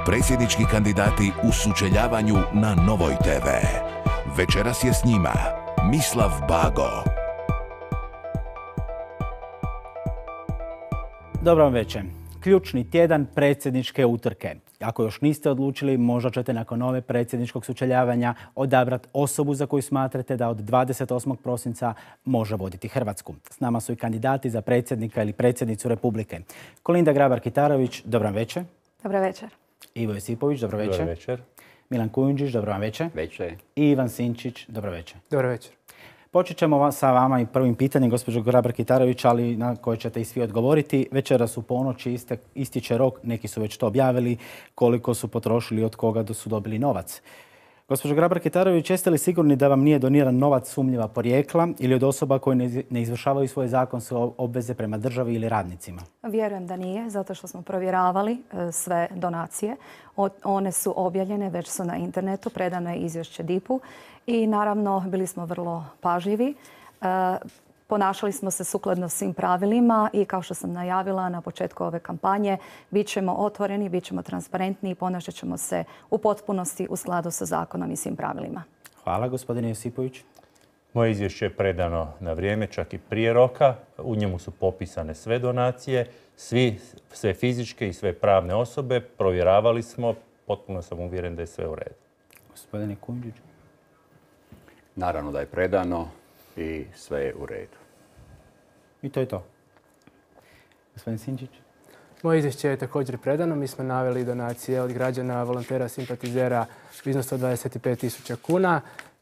Predsjednički kandidati u sučeljavanju na Novoj TV. Večeras je s njima Mislav Bago. Dobro vam večer. Ključni tjedan predsjedničke utrke. Ako još niste odlučili, možda ćete nakon ove predsjedničkog sučeljavanja odabrati osobu za koju smatrate da od 28. prosinca može voditi Hrvatsku. S nama su i kandidati za predsjednika ili predsjednicu Republike. Kolinda Grabar-Kitarović, dobro vam večer. Dobro večer. Ivo Josipović, dobro večer. Dobro večer. Milan Kujundžić, dobro vam večer. Večer. I Ivan Sinčić, dobro večer. Dobro večer. Počet ćemo sa vama i prvim pitanjem, gospođo Grabar-Kitarović, ali na koje ćete i svi odgovoriti. Večeras u ponoći ističe rok, neki su već to objavili, koliko su potrošili, od koga su dobili novac. Gospođo Grabar-Kitarović, jeste li sigurni da vam nije doniran novac sumnjiva porijekla ili od osoba koje ne izvršavaju svoje zakonske obveze prema državi ili radnicima? Vjerujem da nije, zato što smo provjeravali sve donacije. One su objavljene, već su na internetu, predano je izvješće DIP-u i naravno bili smo vrlo pažljivi. Ponašali smo se sukladno svim pravilima i kao što sam najavila na početku ove kampanje, bit ćemo otvoreni, bit ćemo transparentni i ponašat ćemo se u potpunosti u skladu sa zakonom i svim pravilima. Hvala, gospodine Josipović. Moje izvješće je predano na vrijeme, čak i prije roka. U njemu su popisane sve donacije, sve fizičke i sve pravne osobe. Provjeravali smo, potpuno sam uvjeren da je sve u redu. Gospodine Kujundžić. Naravno da je predano i sve je u redu. I to je to. Gospodin Sinčić. Moje izvješće je također predano. Mi smo naveli donacije od građana, volontera, simpatizera u iznosu od 25.000 kuna,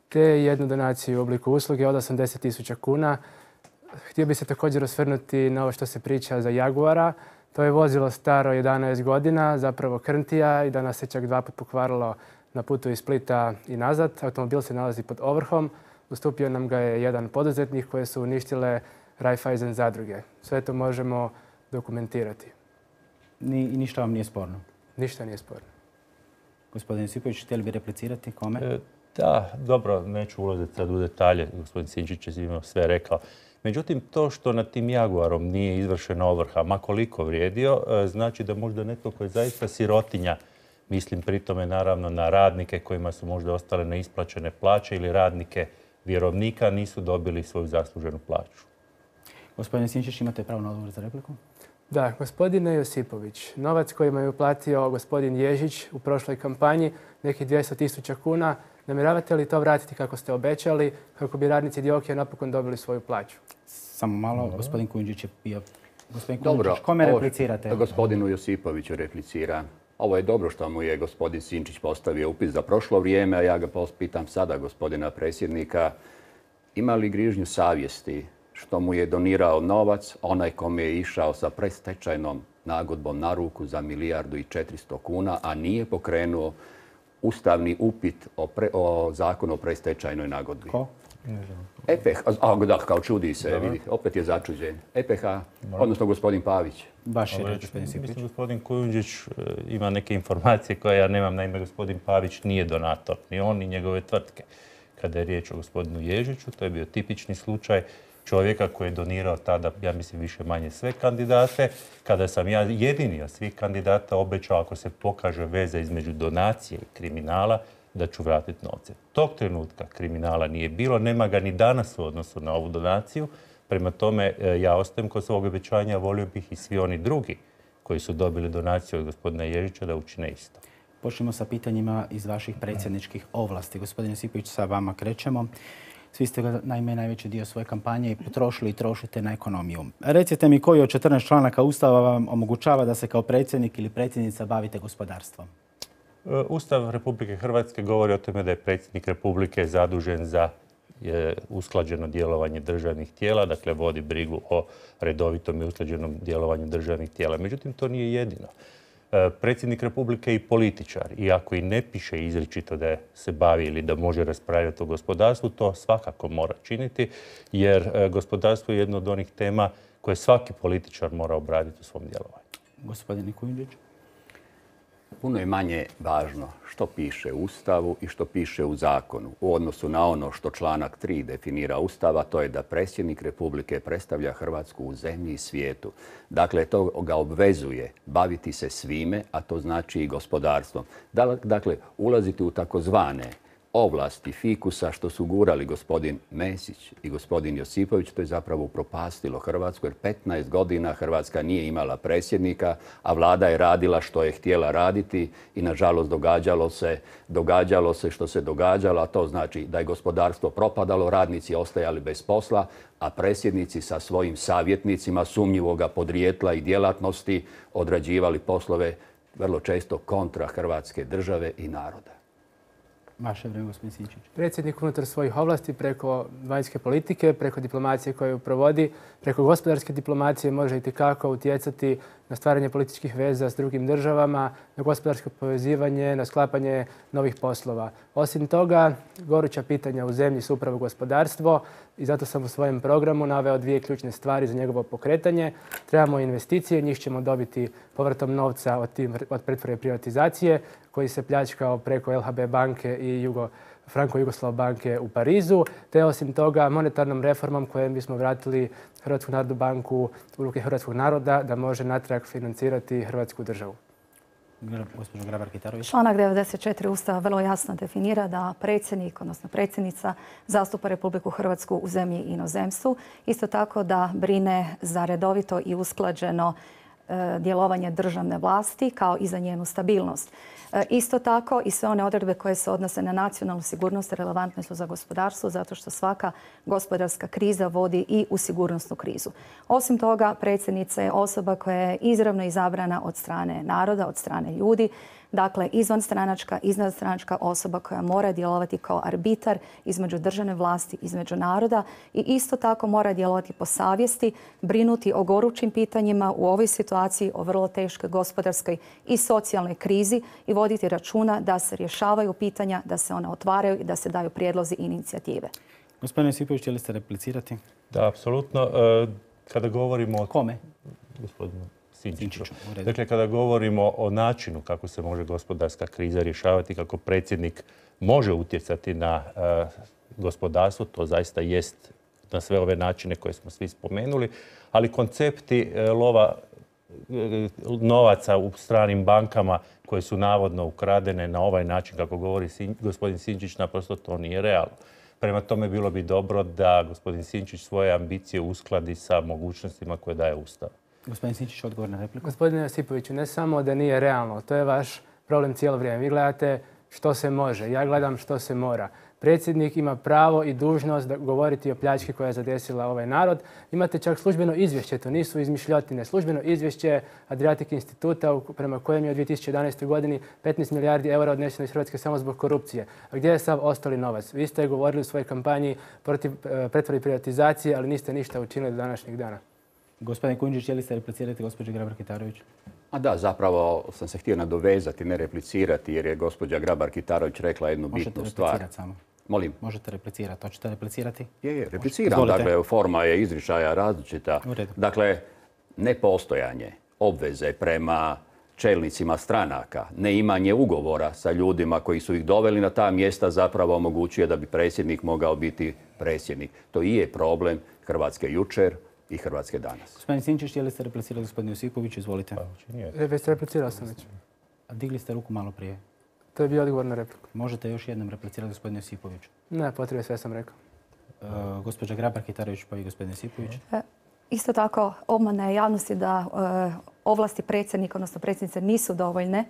te jednu donaciju u obliku usluge od 80.000 kuna. Htio bih se također osvrnuti na ovo što se priča za Jaguara. To je vozilo staro 11 godina, zapravo krntija i danas se čak 2 puta pokvarilo na putu iz Splita i nazad. Automobil se nalazi pod ovrhom. Ustupio nam ga je jedan poduzetnik koje su uništile Raiffeisen zadruge. Sve to možemo dokumentirati. I ništa vam nije sporno? Ništa nije sporno. Gospodin Josipović, htjeli bi replicirati? Kome? Da, dobro, neću ulaziti sad u detalje. Gospodin Sinčić je svima sve rekao. Međutim, to što nad tim Jaguarom nije izvršena ovrha, ma koliko vrijedio, znači da možda netko koji je zaista sirotinja, mislim pri tome naravno na radnike kojima su možda ostale neisplaćene plaće ili radnike vjerovnika nisu dobili svoju zasluženu plaću. Gospodine Sinčić, imate pravo na odgovor za repliku? Da, gospodine Josipović, novac koji je uplatio gospodin Ježić u prošloj kampanji, nekih 200.000 kuna, namjeravate li to vratiti kako ste obećali, kako bi radnici Diokija napokon dobili svoju plaću? Samo malo, gospodin Kujundžić je bio. Gospodin Kujundžić, kome replicirate? Gospodinu Josipoviću replicira. Ovo je dobro što mu je gospodin Sinčić postavio upis za prošlo vrijeme, a ja ga pitam sada gospodina predsjednika, ima li grižnju savjesti što mu je donirao novac onaj kome je išao sa predstečajnom nagodbom na ruku za 1.400.000 kuna, a nije pokrenuo ustavni upit o zakonu o predstečajnoj nagodbi? Ko? EPH, da, kao čudi se, vidite, opet je začuđen. EPH, odnosno gospodin Pavić. Baš je reći, gospodin Sipić. Mislim, gospodin Kujundžić ima neke informacije koje ja nemam. Naime, gospodin Pavić nije donator, ni on, ni njegove tvrtke. Kada je riječ o gospodinu Ježiću, to je bio tipični slučaj čovjeka koji je donirao tada, ja mislim, više manje sve kandidate. Kada sam ja jedini od svih kandidata obećao, ako se pokaže veza između donacije i kriminala, da ću vratiti novce. Tog trenutka kriminala nije bilo, nema ga ni danas u odnosu na ovu donaciju. Prema tome, ja ostajem kod svog obećanja, volio bih i svi oni drugi koji su dobili donaciju od gospodina Ježića da učine isto. Počnemo sa pitanjima iz vaših predsjedničkih ovlasti. Gospodine Sipić, sa vama krećemo. Svi ste ga naime najveći dio svoje kampanje potrošili i trošite na ekonomiju. Recite mi koji od 14 članaka Ustava vam omogućava da se kao predsjednik ili predsjednica bavite gospodarstvom? Ustav Republike Hrvatske govori o tome da je predsjednik Republike zadužen za usklađeno djelovanje državnih tijela, dakle vodi brigu o redovitom i usklađenom djelovanju državnih tijela. Međutim, to nije jedino. Predsjednik Republike je i političar, iako i ne piše izričito da se bavi ili da može raspravljati o gospodarstvu, to svakako mora činiti, jer gospodarstvo je jedna od onih tema koje svaki političar mora obraditi u svom djelovanju. Gospodine Kujundžić. Puno je manje važno što piše u Ustavu i što piše u zakonu u odnosu na ono što članak 3 definira Ustava, to je da predsjednik Republike predstavlja Hrvatsku u zemlji i svijetu. Dakle, to ga obvezuje baviti se svime, a to znači i gospodarstvom. Dakle, ulaziti u takozvane ovlasti fikusa što su gurali gospodin Mesić i gospodin Josipović, to je zapravo upropastilo Hrvatsku, jer 15 godina Hrvatska nije imala predsjednika, a vlada je radila što je htjela raditi i nažalost događalo se što se događalo, a to znači da je gospodarstvo propadalo, radnici ostajali bez posla, a predsjednici sa svojim savjetnicima sumnjivoga podrijetla i djelatnosti odrađivali poslove vrlo često kontra Hrvatske države i naroda. Vaše vrijeme, gospodin Sinčić. Predsjednik unutar svojih ovlasti preko vanjske politike, preko diplomacije koju provodi, preko gospodarske diplomacije može itekako utjecati na stvaranje političkih veza s drugim državama, na gospodarsko povezivanje, na sklapanje novih poslova. Osim toga, goruća pitanja u zemlji su upravo gospodarstvo i zato sam u svojem programu naveo 2 ključne stvari za njegovo pokretanje. Trebamo investicije, njih ćemo dobiti povratom novca od pretvorbe i privatizacije koji se pljačkao preko LHB banke i Franko-Jugoslav banke u Parizu, te osim toga monetarnom reformom kojom bismo vratili Hrvatsku narodnu banku u ruke hrvatskog naroda da može natrag financirati Hrvatsku državu. Gospođo Grabar-Kitarović. Članak 94 Ustava vrlo jasno definira da predsjednik, odnosno predsjednica, zastupa Republiku Hrvatsku u zemlji i inozemstvu. Isto tako da brine za redovito i usklađeno djelovanje državne vlasti kao i za njenu stabilnost. Isto tako i sve one odredbe koje se odnose na nacionalnu sigurnost relevantne su za gospodarstvo zato što svaka gospodarska kriza vodi i u sigurnosnu krizu. Osim toga, predsjednica je osoba koja je izravno izabrana od strane naroda, od strane ljudi. Dakle, iznadstranačka osoba koja mora djelovati kao arbitar između državne vlasti, između naroda i isto tako mora djelovati po savjesti, brinuti o gorućim pitanjima u ovoj situaciji, o vrlo teškoj gospodarskoj i socijalnoj krizi i voditi računa da se rješavaju pitanja, da se one otvaraju i da se daju prijedlozi i inicijative. Gospodine Josipović, htjeli ste replicirati? Da, apsolutno. Kada govorimo o... Kome? Gospodinu Sinčiću. Dakle, kada govorimo o načinu kako se može gospodarska kriza rješavati, kako predsjednik može utjecati na gospodarstvo, to zaista jest na sve ove načine koje smo svi spomenuli, ali koncepti lova novaca u stranim bankama koje su navodno ukradene na ovaj način kako govori gospodin Sinčić, naprosto to nije realno. Prema tome bilo bi dobro da gospodin Sinčić svoje ambicije uskladi sa mogućnostima koje daje Ustav. Gospodin Sinčić, odgovor na repliku. Gospodine Josipoviću, ne samo da nije realno, to je vaš problem cijelo vrijeme. Vi gledate što se može, ja gledam što se mora. Predsjednik ima pravo i dužnost da govoriti o pljački koja je zadesila ovaj narod. Imate čak službeno izvješće, to nisu izmišljotine. Službeno izvješće Adriatic instituta prema kojem je u 2011. godini 15 milijardi eura odneseno iz Hrvatske samo zbog korupcije. A gdje je sav ostali novac? Vi ste govorili u svojoj kampanji protiv pretvorbe i privatizacije, ali niste ništa učinili do današnjeg dana. Gospodin Kujundžić, htjeli ste replicirati gospođi Grabar-Kitarović? A da, zapravo sam se htio nadovezati, ne replicirati, jer je gospođa Grabar-Kitarović rekla jednu bitnu stvar. Možete replicirati samo. Molim? Možete replicirati. Hoćete replicirati? Je, repliciram. Dakle, forma je izričaja različita. Dakle, nepostojanje obveze prema čelnicima stranaka, neimanje ugovora sa ljudima koji su ih doveli na ta mjesta zapravo omogućuje da bi predsjednik mogao biti predsjednik. To i je problem Hrvatske jučer i Hrvatske danas. Gospodin Sinčić, htjeli ste replicirati gospodinu Josipoviću, izvolite. Već replicirao sam već. Digli ste ruku malo prije. To je bio odgovor na repliku. Možete još jednom replicirati gospodinu Josipoviću? Ne, potrebe, sve sam rekao. Gospođa Grabar-Kitarović pa i gospodin Josipović. Isto tako, obmana je javnosti da ovlasti predsjednika, odnosno predsjednice, nisu dovoljne,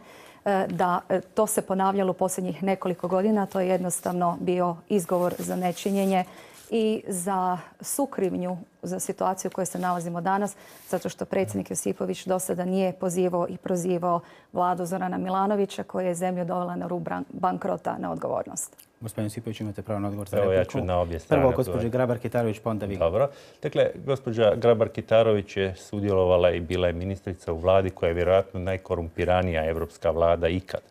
da to se ponavljalo u posljednjih nekoliko godina. To je jednostavno bio izgovor za nečinjenje i za sukrivnju za situaciju u kojoj se nalazimo danas, zato što predsjednik Josipović do sada nije pozivao i prozivao vladu Zorana Milanovića koja je zemlju dovela na rub bankrota, na odgovornost. Gospodin Josipović, imate pravo na odgovor za repliku. Evo, ja ću na obje strane. Prvo gospođa Grabar-Kitarović, pa onda vi. Dobro. Dakle, gospođa Grabar-Kitarović je sudjelovala i bila je ministrica u vladi koja je vjerojatno najkorumpiranija evropska vlada ikad.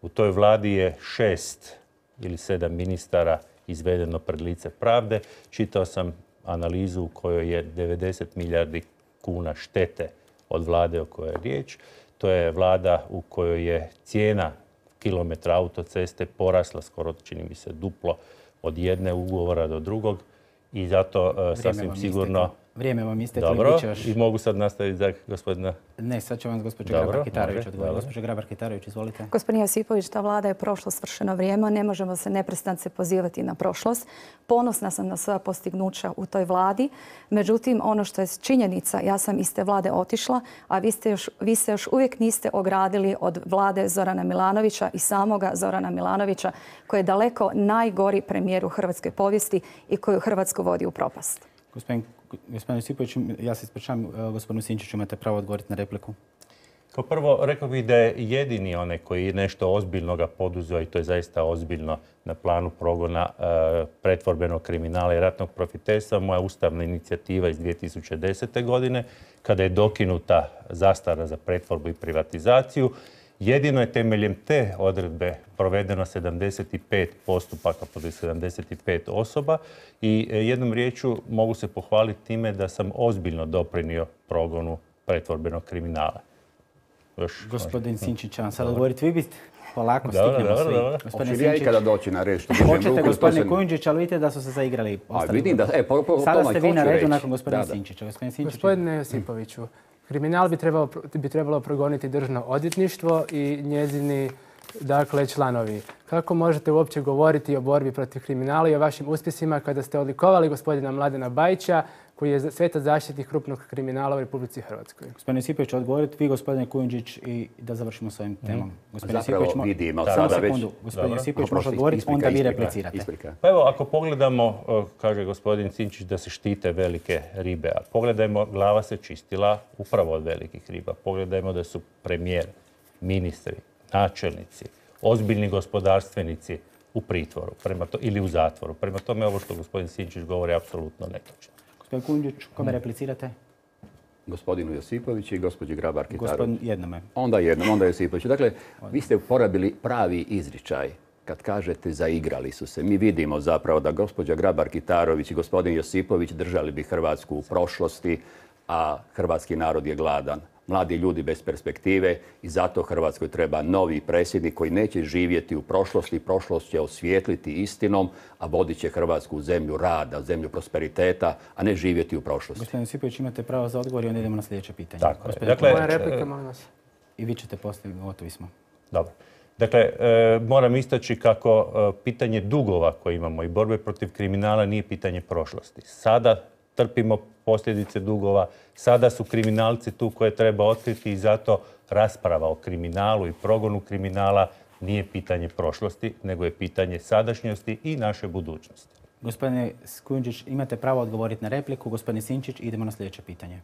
U toj vladi je 6 ili 7 ministara izvedeno pred lice pravde. Čitao sam analizu u kojoj je 90 milijardi kuna štete od vlade o kojoj je riječ. To je vlada u kojoj je cijena kilometra autoceste porasla skoro, čini mi se, duplo od jedne ugovora do drugog. I zato sasvim sigurno... Vrijeme vam isteklo. Dobro, i mogu sad nastaviti za gospodina... Ne, sad će vam gospođa Grabar-Kitarović odgovoriti. Gospođa Grabar-Kitarović, izvolite. Gospodin Josipović, ta vlada je prošlo svršeno vrijeme. Ne možemo se neprestance pozivati na prošlost. Ponosna sam na svoja postignuća u toj vladi. Međutim, ono što je činjenica, ja sam iz te vlade otišla, a vi se još uvijek niste ogradili od vlade Zorana Milanovića i samoga Zorana Milanovića, koji je daleko najgori premijer u hrvatskoj povijesti i koju Hrvatsku vodi u propast. Gospodin Josipović, ja se ispričavam, gospodinu Sinčiću, imate pravo odgovoriti na repliku. Kao prvo, rekao bih da je jedini onaj koji je nešto ozbiljnoga poduzeo, i to je zaista ozbiljno na planu progona pretvorbenog kriminala i ratnog profiterstva, moja ustavna inicijativa iz 2010. godine, kada je dokinuta zastara za pretvorbu i privatizaciju. Jedino je temeljem te odredbe provedeno 75 postupaka protiv 75 osoba i jednom riječju mogu se pohvaliti time da sam ozbiljno doprinio progonu pretvorbenog kriminala. Gospodin Sinčić će vam sad odgovoriti. Vi biste polako stignemo svi. Hoće li ja ikada doći na reč? Hoćete, gospodine Kujundžić, ali vidite da su se zaigrali. Vidim da... Sada ste vi na redu nakon gospodina Sinčića. Gospodine Josipoviću, kriminal bi trebalo progoniti državno odvjetništvo i njezini članovi. Kako možete uopće govoriti o borbi protiv kriminala i o vašim uspjesima kada ste odlikovali gospodina Mladena Bajića, koji je svetac zaštitnik krupnog kriminala u Republici Hrvatskoj? Gospodine Josipović, odgovoriti vi, gospodine Kujundžić, i da završimo s ovim temom. Zapravo vidimo samo sekundu. Gospodin Josipović može odgovoriti, onda vi replicirate. Pa evo, ako pogledamo, kaže gospodin Sinčić, da se štite velike ribe, a pogledajmo, glava se čistila upravo od velikih riba. Pogledajmo da su premijer, ministri, načelnici, ozbiljni gospodarstvenici u pritvoru ili u zatvoru. Prema tome, ovo što gospodin Sinčić govori je apsolutno netočno. Gospodin Kujundžić, kome replicirate? Gospodinu Josipoviću i gospođi Grabar-Kitarović. Gospodin jednome. Onda Josipoviću. Dakle, vi ste uporabili pravi izričaj kad kažete zaigrali su se. Mi vidimo zapravo da gospođa Grabar-Kitarović i gospodin Josipović držali bi Hrvatsku u prošlosti, a hrvatski narod je gladan. Mladi ljudi bez perspektive i zato Hrvatskoj treba novi predsjednik koji neće živjeti u prošlosti. Prošlost će osvijetliti istinom, a vodit će Hrvatsku u zemlju rada, zemlju prosperiteta, a ne živjeti u prošlosti. Gospodin Josipović, imate pravo za odgovor i onda idemo na sljedeće pitanje. Tako je. Dakle, moja replika, molim vas. I vi ćete postaviti, gotovi smo. Dobro. Dakle, moram istaći kako pitanje dugova koje imamo i borbe protiv kriminala nije pitanje prošlosti. Sada trpimo posljedice dugova. Sada su kriminalci tu koje treba otkriti i zato rasprava o kriminalu i progonu kriminala nije pitanje prošlosti, nego je pitanje sadašnjosti i naše budućnosti. Gospodine Kujundžić, imate pravo odgovoriti na repliku. Gospodine Sinčić, idemo na sljedeće pitanje.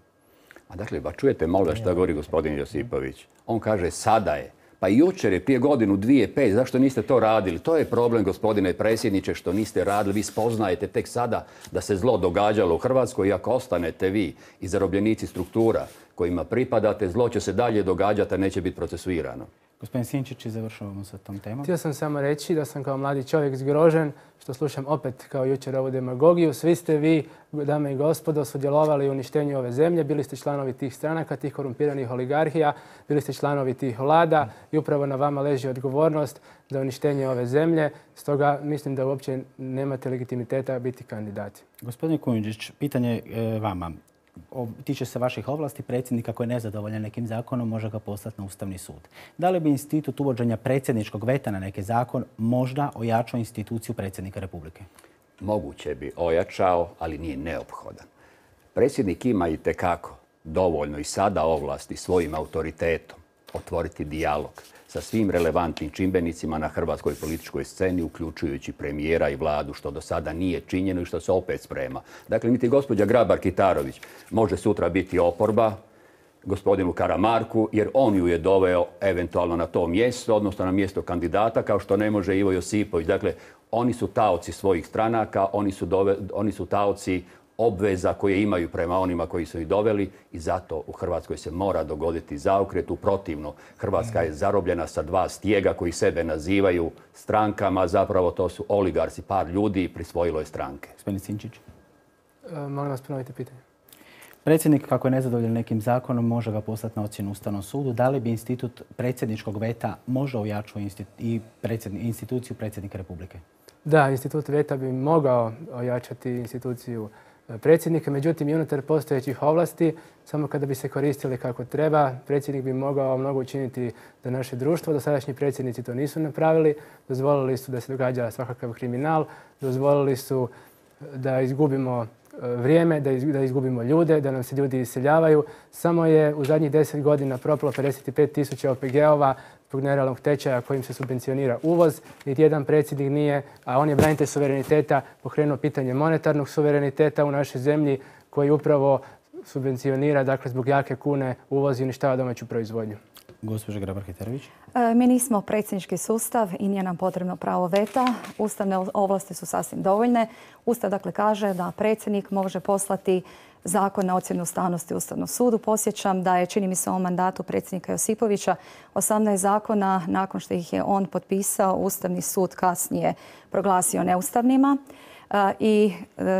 Dakle, čujete malo što govori gospodin Josipović. On kaže sada je. Pa jučer je, prije godinu, 2, 5, zašto niste to radili? To je problem, gospodine predsjedniče, što niste radili. Vi spoznajete tek sada da se zlo događalo u Hrvatskoj i ako ostanete vi i zarobljenici struktura kojima pripadate, zlo će se dalje događati, a neće biti procesuirano. Gospodin Sinčić, završavamo sa tom temom. Htio sam samo reći da sam kao mladi čovjek zgrožen što slušam opet kao jučer ovu demagogiju. Svi ste vi, dame i gospodo, sudjelovali u uništenju ove zemlje. Bili ste članovi tih stranaka, tih korumpiranih oligarhija, bili ste članovi tih vlada i upravo na vama leži odgovornost za uništenje ove zemlje. Stoga mislim da uopće nemate legitimiteta biti kandidati. Gospodin Kujundžić, pitanje vama. Tiče se vaših ovlasti, predsjednika koji je nezadovoljan nekim zakonom može ga poslati na Ustavni sud. Da li bi institut uvođenja predsjedničkog veta na neki zakon možda ojačao instituciju predsjednika Republike? Moguće bi ojačao, ali nije neophodan. Predsjednik ima itekako dovoljno i sada ovlasti svojim autoritetom otvoriti dijalog sa svim relevantnim čimbenicima na hrvatskoj političkoj sceni, uključujući premijera i vladu, što do sada nije činjeno i što se opet sprema. Dakle, niti gospođa Grabar-Kitarović može sutra biti oporba gospodinu Karamarku, jer on ju je doveo eventualno na to mjesto, odnosno na mjesto kandidata, kao što ne može Ivo Josipović. Dakle, oni su taoci svojih stranaka, oni su taoci obveza koje imaju prema onima koji su ih doveli i zato u Hrvatskoj se mora dogoditi zaokret. U protivno, Hrvatska je zarobljena sa 2 stijega koji sebe nazivaju strankama, zapravo to su oligarsi, par ljudi i prisvojilo je stranke. Gospodin Sinčić. Molim vas, ponovite pitanje. Predsjednik, kako je nezadovoljan nekim zakonom, može ga poslati na ocjenu Ustavnom sudu. Da li bi institut predsjedničkog veta možda ojačao i instituciju predsjednika Republike? Da, institut veta bi mogao ojačati instituciju predsjednika, međutim i unutar postojećih ovlasti, samo kada bi se koristili kako treba, predsjednik bi mogao mnogo učiniti za naše društvo. Dosadašnji predsjednici to nisu napravili, dozvolili su da se događa svakakav kriminal, dozvolili su da izgubimo vrijeme, da izgubimo ljude, da nam se ljudi iseljavaju. Samo je u zadnjih 10 godina propalo 55.000 OPG-ova zbog nerealnog tečaja kojim se subvencionira uvoz. Niti jedan predsjednik nije, a on je branitelj suvereniteta, pokrenuo pitanje monetarnog suvereniteta u našoj zemlji koji upravo subvencionira, dakle zbog jake kune, uvoz i uništava domaću proizvodnju. Gospođa Grabar-Kitarović. Mi nismo predsjednički sustav i nije nam potrebno pravo veta. Ustavne ovlasti su sasvim dovoljne. Ustav dakle kaže da predsjednik može poslati zakon na ocjenu ustavnosti Ustavnom sudu. Podsjećam da je, čini mi se, u ovom mandatu predsjednika Josipovića 18 zakona nakon što ih je on potpisao Ustavni sud kasnije proglasio neustavnima. I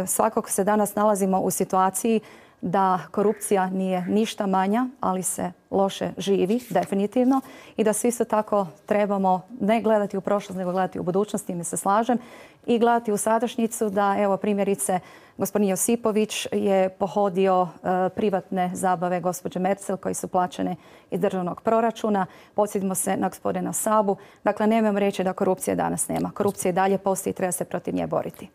svakako se danas nalazimo u situaciji da korupcija nije ništa manja, ali se loše živi, definitivno. I da svi isto tako trebamo ne gledati u prošlost, nego gledati u budućnost, time se slažem. I gledati u sadašnjicu da, evo primjerice, gospodin Josipović je pohodio privatne zabave gospođe Merzel koji su plaćene iz državnog proračuna. Podsjetimo se na gospodina Sabu. Dakle, nemojmo reći da korupcije danas nema. Korupcija i dalje postoji i treba se protiv nje boriti.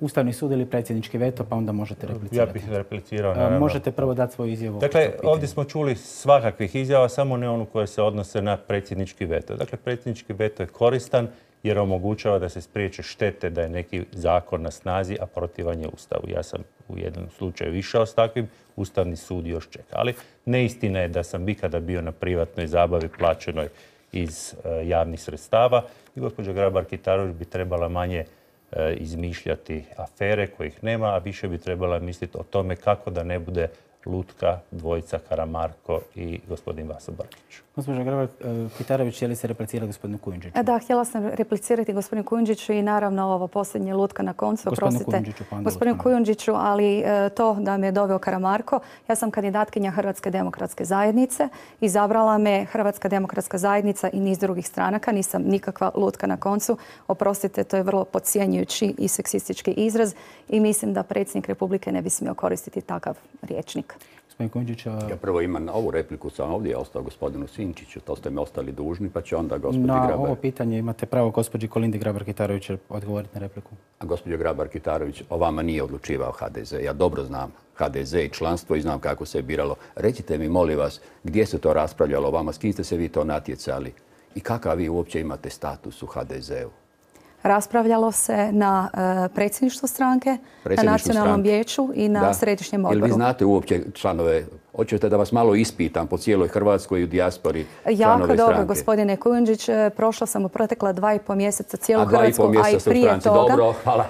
Ustavni sud ili predsjednički veto, pa onda možete replicirati. Ja bih replicirao, naravno. Možete prvo dati svoju izjavu. Dakle, ovdje smo čuli svakakvih izjava, samo ne onu koje se odnose na predsjednički veto. Dakle, predsjednički veto je koristan jer omogućava da se spriječe štete da je neki zakon na snazi, a protivan je Ustavu. Ja sam u jednom slučaju išao s takvim, Ustavni sud još čeka. Ali neistina je da sam ikada bio na privatnoj zabavi plaćenoj iz javnih sredstava i gospođa Grabar-Kitarović bi trebala manje izmišljati afere kojih nema, a više bi trebala misliti o tome kako da ne bude lutka dvojica Karamarko i gospodin Vaso Brkić. Gospođa Grabar-Kitarović, želi se replicirati gospodinu Kujundžiću? Da, htjela sam replicirati gospodinu Kujundžiću i naravno ovo posljednje lutka na koncu. Gospodinu Kujundžiću, ali to da me je doveo Karamarko. Ja sam kandidatkinja Hrvatske demokratske zajednice. Izabrala me Hrvatska demokratska zajednica i niz drugih stranaka. Nisam nikakva lutka na koncu. Oprostite, to je vrlo podcjenjujući i seksistički izraz i mislim da predsjednik Republike ne bi smio koristiti takav rječnik. Ja prvo imam ovu repliku, sam ovdje ostao gospodinu Sinčiću, to ste mi ostali dužni, pa će onda gospođi Grabar... Na ovo pitanje imate pravo gospođi Kolindi Grabar-Kitarović odgovoriti na repliku. A gospođo Grabar-Kitarović, o vama nije odlučivao HDZ. Ja dobro znam HDZ i članstvo i znam kako se je biralo. Recite mi, molim vas, gdje se to raspravljalo o vama, s kim ste se vi to natjecali i kakav vi uopće imate status u HDZ-u? Raspravljalo se na predsjedništvu stranke, na nacionalnom vijeću i na središnjem odboru. Jel vi znate uopće članove, hoćete da vas malo ispitam po cijeloj Hrvatskoj i u dijaspori članove stranke? Jako dobro, gospodine Kujundžić. Prošla sam u protekla 2,5 mjeseca cijelu Hrvatsku, a i prije toga. Dobro, hvala.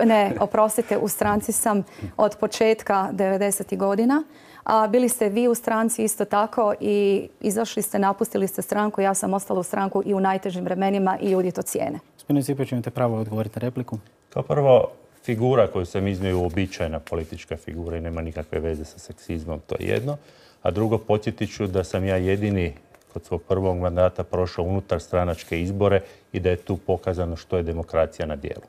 Ne, oprostite, u stranci sam od početka 90. godina. A bili ste vi u stranci isto tako i izašli ste, napustili ste stranku. Ja sam ostala u stranku i u najtežim vremenima i ljudi to cijene. Gospodine Josipović, imate pravo odgovoriti na repliku. Kao prvo, figura koju sam iznio je uobičajena politička figura i nema nikakve veze sa seksizmom, to je jedno. A drugo, podsjetit ću da sam ja jedini kod svog prvog mandata prošao unutar stranačke izbore i da je tu pokazano što je demokracija na djelu.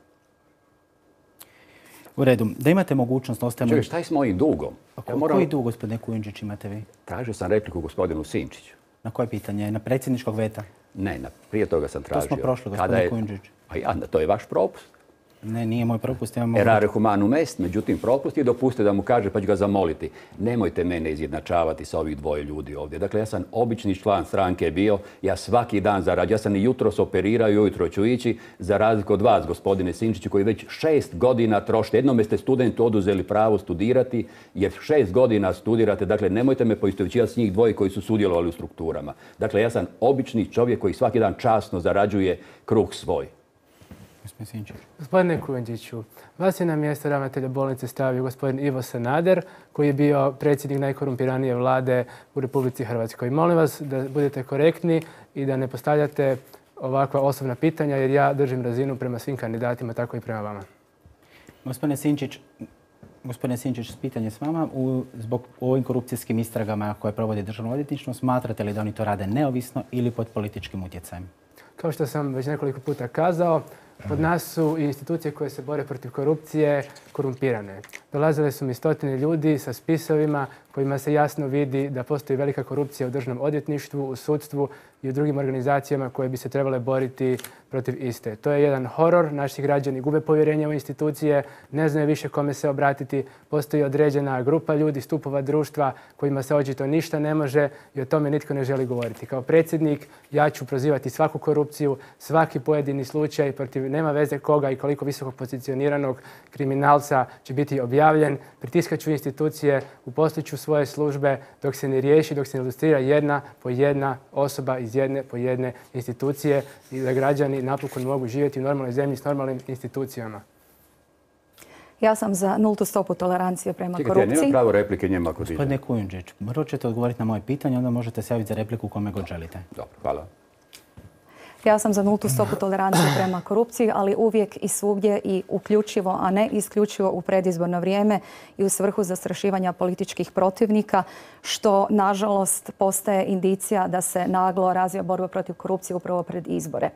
U redu. Da imate mogućnost, ostajemo... Čekaj, šta je s mojim dugom? Koji dug, gospodine Kujundžić, imate vi? Tražio sam repliku gospodinu Sinčiću. Na koje pitanje? Na predsjedničkog veta? Ne, prije toga sam tražio. To smo prošli, gospodine Kujundžić. To je vaš propust. Ne, nije moj propust. Errare humanum est, međutim propust je dopustite da mu kaže pa ću ga zamoliti. Nemojte mene izjednačavati sa ovih dvoje ljudi ovdje. Dakle, ja sam obični član stranke bio, ja svaki dan zarađujem. Ja sam i jutros operirao i ujutro ću ići, za razliku od vas, gospodine Sinčiću, koji već 6 godina trošite. Jednome ste studentu oduzeli pravo studirati, jer 6 godina studirate. Dakle, nemojte me poistovjećivati s njih dvoje koji su sudjelovali u strukturama. Dakle, ja sam obični čovjek koji svaki dan časno zarađuje kruh svoj. Gospodine Kujundžiću, vas je na mjesto ravnatelja bolnice stavio gospodin Ivo Sanader, koji je bio predsjednik najkorumpiranije vlade u Republici Hrvatskoj. Molim vas da budete korektni i da ne postavljate ovakva osobna pitanja, jer ja držim razinu prema svim kandidatima, tako i prema vama. Gospodine Sinčić, Gospodine Sinčić, pitanje s vama. Zbog ovim korupcijskim istragama koje provodi Državno odvjetništvo, smatrate li da oni to rade neovisno ili pod političkim utjecajem? Kao što sam već nekoliko puta kazao, kod nas su i institucije koje se bore protiv korupcije korumpirane. Dolazile su mi stotine ljudi sa spisovima kojima se jasno vidi da postoji velika korupcija u Državnom odvjetništvu, u sudstvu i u drugim organizacijama koje bi se trebale boriti protiv iste. To je jedan horor, naši građani gube povjerenje u institucije, ne znaju više kome se obratiti, postoji određena grupa ljudi, stupova društva kojima se očito ništa ne može i o tome nitko ne želi govoriti. Kao predsjednik ja ću prozivati svaku korupciju, svaki pojedini slučaj protiv nema veze koga i koliko visoko pozicioniranog kriminalca će biti objavljen, pritiskat ću institucije, uposlit ću svoje službe dok se ne riješi, dok se ne ilustrira jedna po jedna osoba iz jedne po jedne institucije i da građani napokon mogu živjeti u normalnoj zemlji s normalnim institucijama. Ja sam za nultu stopu tolerancije prema korupciji. korupciji. Nema pravo replike njema ako Gospodine Kujundžić, prvo ćete odgovoriti na moje pitanje, onda možete se javiti za repliku kome god želite. Dobro, hvala. Ja sam za nultu stopu tolerancije prema korupciji, ali uvijek i svugdje i uključivo, a ne isključivo u predizborno vrijeme i u svrhu zastrašivanja političkih protivnika, što nažalost postaje indicija da se naglo razvija borba protiv korupcije upravo pred izbore.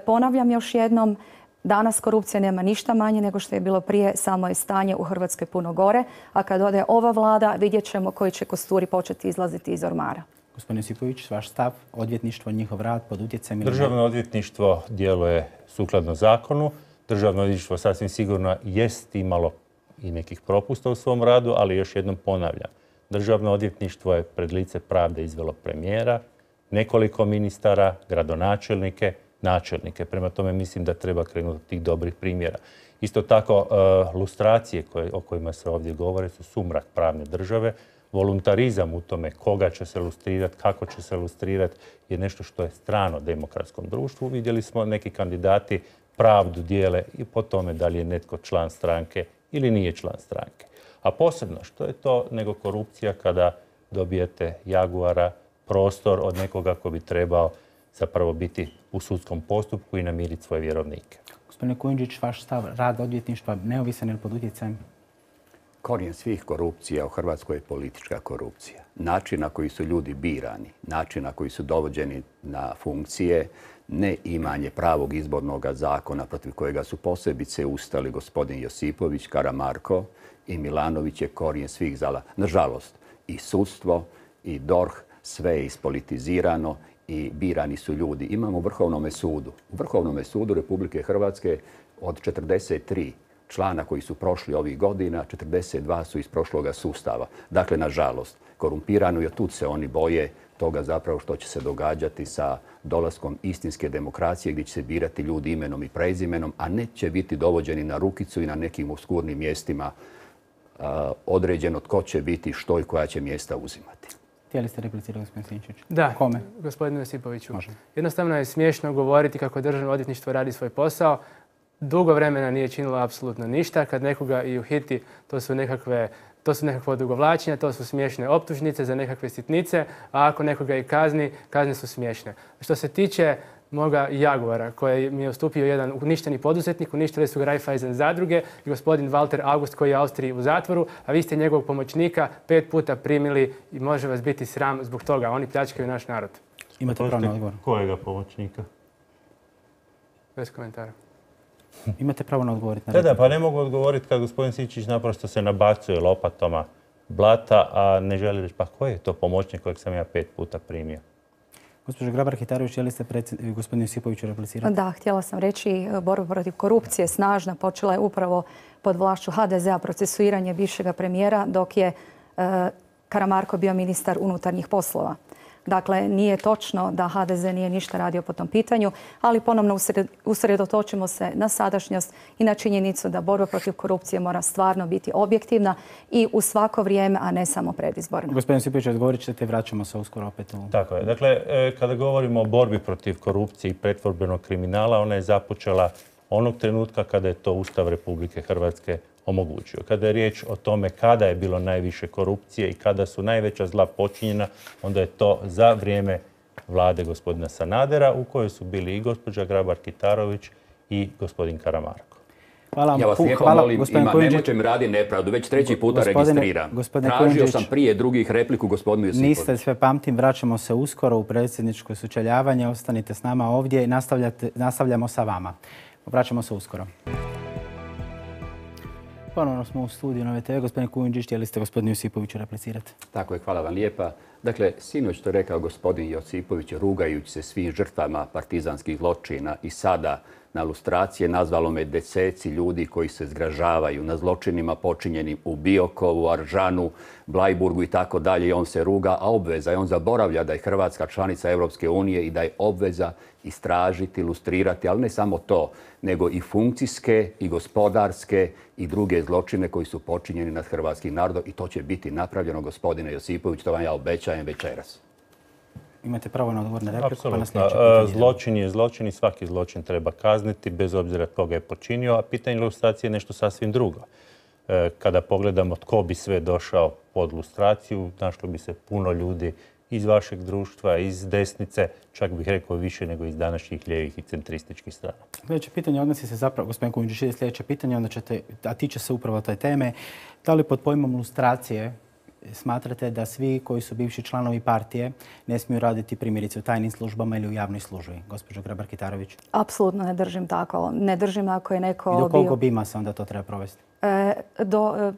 Ponavljam još jednom, danas korupcija nema ništa manje nego što je bilo prije, samo je stanje u Hrvatskoj puno gore, a kad ode ova vlada vidjet ćemo koji će kosturi početi izlaziti iz ormara. Gospodine Josipović, vaš stav, odvjetništvo, njihov rad pod utjecajem... Državno odvjetništvo djeluje sukladno zakonu. Državno odvjetništvo sasvim sigurno jest imalo i nekih propusta u svom radu, ali još jednom ponavljam. Državno odvjetništvo je pred lice pravde izvelo premijera, nekoliko ministara, gradonačelnike, načelnike. Prema tome mislim da treba krenuti od tih dobrih primjera. Isto tako, lustracije o kojima se ovdje govore su sumrak pravne države. Voluntarizam u tome koga će se lustrirati, kako će se lustrirati je nešto što je strano demokratskom društvu. Vidjeli smo neki kandidati pravdu dijele i po tome da li je netko član stranke ili nije član stranke. A posebno što je to nego korupcija kada dobijete Jaguara, prostor od nekoga ko bi trebao zapravo biti u sudskom postupku i namiriti svoje vjerovnike. Gospodine Kujundžić, vaš stav, rad odvjetništva neovisan ili pod utjecajem? Korijen svih korupcija u Hrvatskoj je politička korupcija. Način na koji su ljudi birani, način na koji su dovođeni na funkcije, ne imanje pravog izbornog zakona protiv kojega su posebice ustali gospodin Josipović, Karamarko i Milanović je korijen svih zala. Nažalost, i sudstvo i DORH, sve je ispolitizirano i birani su ljudi. Imamo u Vrhovnome sudu. U Vrhovnome sudu Republike Hrvatske od 43 člana koji su prošli ovih godina, 42 su iz prošloga sustava. Dakle, nažalost, korumpirano i otud se oni boje toga zapravo što će se događati sa dolaskom istinske demokracije gdje će se birati ljudi imenom i prezimenom, a ne će biti dovođeni na rukicu i na nekim obskurnim mjestima određeno tko će biti što i koja će mjesta uzimati. Htjeli ste replicirati, gospodin Sinčić? Da, kome? Gospodinu Josipoviću. Može. Jednostavno je smiješno govoriti kako Državno odvjetništvo radi svoj posao. Dugo vremena nije činilo apsolutno ništa. Kad nekoga i uhiti, to su nekakve odugovlačenja, to su smiješne optužnice za nekakve sitnice, a ako nekoga i kazni, kazne su smiješne. Što se tiče moga Jaguara, koji mi je ustupio jedan uništeni poduzetnik, uništili su ga Raiffeisen zadruge i gospodin Walter August koji je u Austriji u zatvoru, a vi ste njegovog pomoćnika 5 puta primili i može vas biti sram zbog toga. Oni pljačkaju naš narod. Imate pravo na odgovor. Kojega pomoćnika? Bez komentara. Imate pravo na odgovoriti na repliku. Da, pa ne mogu odgovoriti kad gospodin Sinčić naprosto se nabacuje lopatama blata, a ne želi reći pa koji je to pomoćnik kojeg sam ja 5 puta primio. Gospođo Grabar-Kitarović, želi ste gospodinu Josipoviću replicirati? Da, htjela sam reći, borba protiv korupcije snažna počela je upravo pod vlašću HDZ-a, procesuiranje bivšega premijera dok je Karamarko bio ministar unutarnjih poslova. Dakle, nije točno da HDZ nije ništa radio po tom pitanju, ali ponovno usredotočimo se na sadašnjost i na činjenicu da borba protiv korupcije mora stvarno biti objektivna i u svako vrijeme, a ne samo predizborno. Gospodin Josipović, odgovorit ćete, vraćamo se uskoro opet u... Tako je. Dakle, kada govorimo o borbi protiv korupcije i pretvorbenog kriminala, ona je započela onog trenutka kada je to Ustav Republike Hrvatske omogućio. Kada je riječ o tome kada je bilo najviše korupcije i kada su najveća zla počinjena, onda je to za vrijeme vlade gospodina Sanadera u kojoj su bili i gospođa Grabar-Kitarović i gospodin Karamarko. Hvala vam. Ja vas lijepo molim, nemojte mi raditi nepravdu, već treći puta registriram. Tražio sam prije drugih repliku gospodinu Josipoviću. Niste, sve pamtim, vraćamo se uskoro u predsjedničko sučeljavanje, ostanite s nama ovdje i nastavljamo sa vama. Vraćamo se uskoro. Ponovno smo u studiju Nove TV. Gospodine Kujundžić, htjeli ste gospodinu Josipoviću replicirati? Tako je, hvala vam lijepa. Dakle, sinoć što je rekao gospodin Josipović, rugajući se svim žrtvama partizanskih zločina i sada na lustracije nazvalo me deseci ljudi koji se zgražavaju na zločinima počinjenim u Biokovu, Aržanu, Blajburgu i tako dalje. I on se ruga, a obveza, i on zaboravlja da je Hrvatska članica Europske unije i da je obveza istražiti, lustrirati, ali ne samo to, nego i funkcijske i gospodarske i druge zločine koji su počinjeni nad hrvatskim narodom i to će biti napravljeno, gospodine Josipović, to vam ja obećajem večeras. Imate pravo na odgovor na repliku. Apsolutno. Zločin je zločin i svaki zločin treba kazniti bez obzira tko ga je počinio, a pitanje lustracije je nešto sasvim drugo. Kada pogledamo tko bi sve došao pod lustraciju, našlo bi se puno ljudi iz vašeg društva, iz desnice, čak bih rekao više nego iz današnjih lijevih i centrističkih strana. Sljedeće pitanje odnosi se zapravo, gospodin Kujundžić, sljedeće pitanje, a tiče se upravo toj teme. Da li pod pojmom lustracije smatrate da svi koji su bivši članovi partije ne smiju raditi primjerice u tajnim službama ili u javnoj službi? Gospođo Grabar-Kitarović. Apsolutno ne držim tako. Ne držim ako je neko bio... I do koliko obima se onda to treba provesti?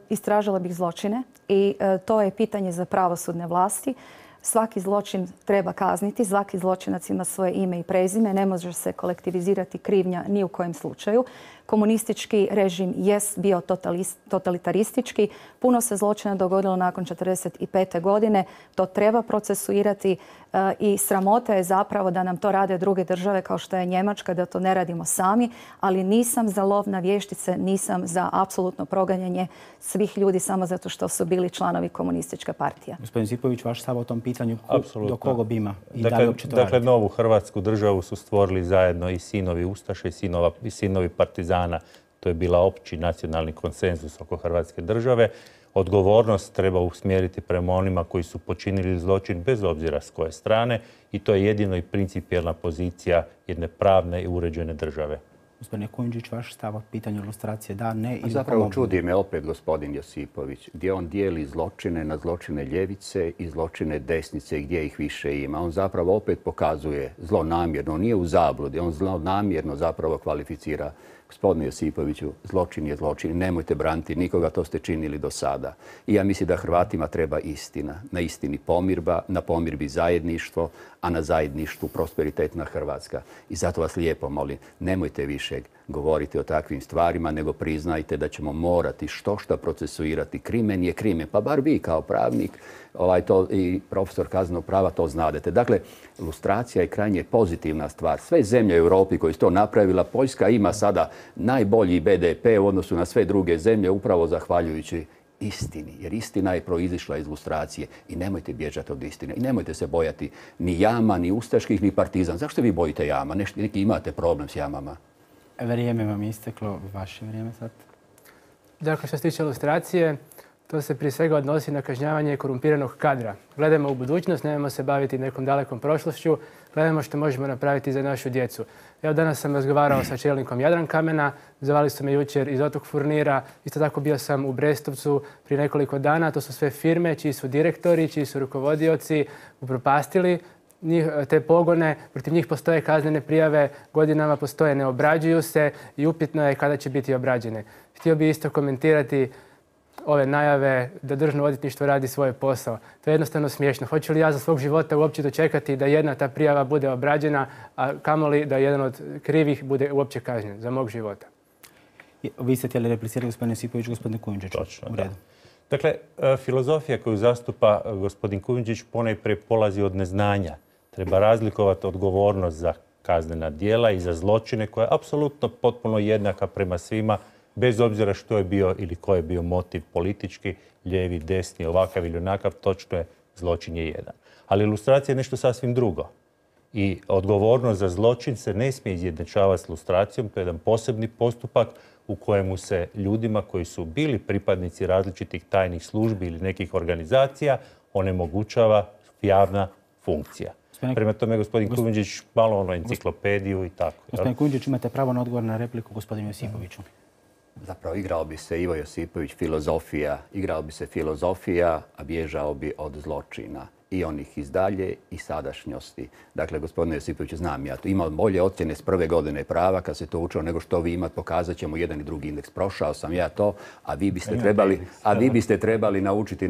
Istražila bih zločine i to je pitanje za pravosudne vlasti. Svaki zločin treba kazniti, svaki zločinac ima svoje ime i prezime, ne može se kolektivizirati krivnja ni u kojem slučaju. Komunistički režim jest bio totalitaristički. Puno se zločina dogodilo nakon 1945. godine. To treba procesuirati i sramota je zapravo da nam to rade druge države kao što je Njemačka, da to ne radimo sami, ali nisam za lov na vještice, nisam za apsolutno proganjanje svih ljudi samo zato što su bili članovi komunističke partije. Gospodin Josipović, vaš stav o tom pitanju, do koga obima i dakle, da li uopće to radite? radite? Novu Hrvatsku državu su stvorili zajedno i sinovi Ustaša i sinovi partizana. To je bila opći nacionalni konsenzus oko Hrvatske države. Odgovornost treba usmjeriti prema onima koji su počinili zločin bez obzira s koje strane i to je jedino i principijelna pozicija jedne pravne i uređene države. Gospodine Kujundžić, vaš stav o pitanju ilustracije, da, ne i zapravo čudi me opet gospodin Josipović, gdje on dijeli zločine na zločine ljevice i zločine desnice, gdje ih više ima. On zapravo opet pokazuje zlonamjerno, nije u zabludi, on zlonamjerno zapravo kvalificira. Gospodine Josipoviću, zločin je zločin. Nemojte braniti nikoga, to ste činili do sada. I ja mislim da Hrvatima treba istina. Na istini pomirba, na pomirbi zajedništvo, a na zajedništvu prosperitetna Hrvatska. I zato vas lijepo molim, nemojte više govoriti o takvim stvarima, nego priznajte da ćemo morati što procesuirati. Krimen je krimen. Pa bar vi kao pravnik i profesor kaznenog prava to znadete. Dakle, lustracija je krajnje pozitivna stvar. Sve zemlje u Europi koje su to napravila, Poljska ima sada najbolji BDP u odnosu na sve druge zemlje upravo zahvaljujući istini. Jer istina je proizišla iz lustracije. I nemojte bježati od istine. I nemojte se bojati ni jama, ni ustaških, ni partizan. Zašto vi bojite jama? Neki imate problem s jamama. Vrijeme vam je isteklo, vaše vrijeme sad. Dakle, što se tiče lustracije, to se prije svega odnosi na kažnjavanje korumpiranog kadra. Gledajmo u budućnost, nemojmo se baviti nekom dalekom prošlošću, gledajmo što možemo napraviti za našu djecu. Evo danas sam razgovarao sa čelnikom Jadrankamena, zvali su me jučer iz Otok Furnira, isto tako bio sam u Brestovcu prije nekoliko dana, to su sve firme čiji su direktori, čiji su rukovodioci upropastili te pogone, protiv njih postoje kaznene prijave, godinama postoje, ne obrađuju se i upitno je kada će biti obrađene. Htio bih isto komentirati ove najave da Državno odvjetništvo radi svoj posao. To je jednostavno smiješno. Hoću li ja za svog života uopće dočekati da jedna ta prijava bude obrađena, a kamoli da jedan od krivih bude uopće kažnjen za mog života? Vi ste htjeli replicirati gospodine Josipović, gospodine Kujundžić. Točno, da. Dakle, filozofija koju zastupa gospodin Kujundžić ponajprije polazi od neznanja. Treba razlikovati odgovornost za kaznena djela i za zločine koja je apsolutno potpuno jednaka prema svima, bez obzira što je bio ili koji je bio motiv politički, lijevi, desni, ovakav ili onakav, točno je, zločin je jedan. Ali ilustracija je nešto sasvim drugo. I odgovornost za zločin se ne smije izjednačavati s lustracijom. To je jedan posebni postupak u kojemu se ljudima koji su bili pripadnici različitih tajnih službi ili nekih organizacija onemogućava javna funkcija. Prema tome, gospodin Kujundžić, malo enciklopediju i tako. Gospodin Kujundžić, imate pravo na odgovor na repliku gospodinu Josipoviću. Zapravo igrao bi se Ivo Josipović igrao bi se filozofija, a bježao bi od zločina. I onih iz dalje i sadašnjosti. Dakle, gospodine Josipović, znam ja to. Imam bolje ocjene s prve godine prava kad se to učilo nego što vi imate. Pokazat ćemo jedan i drugi indeks. Prošao sam ja to, a vi biste trebali naučiti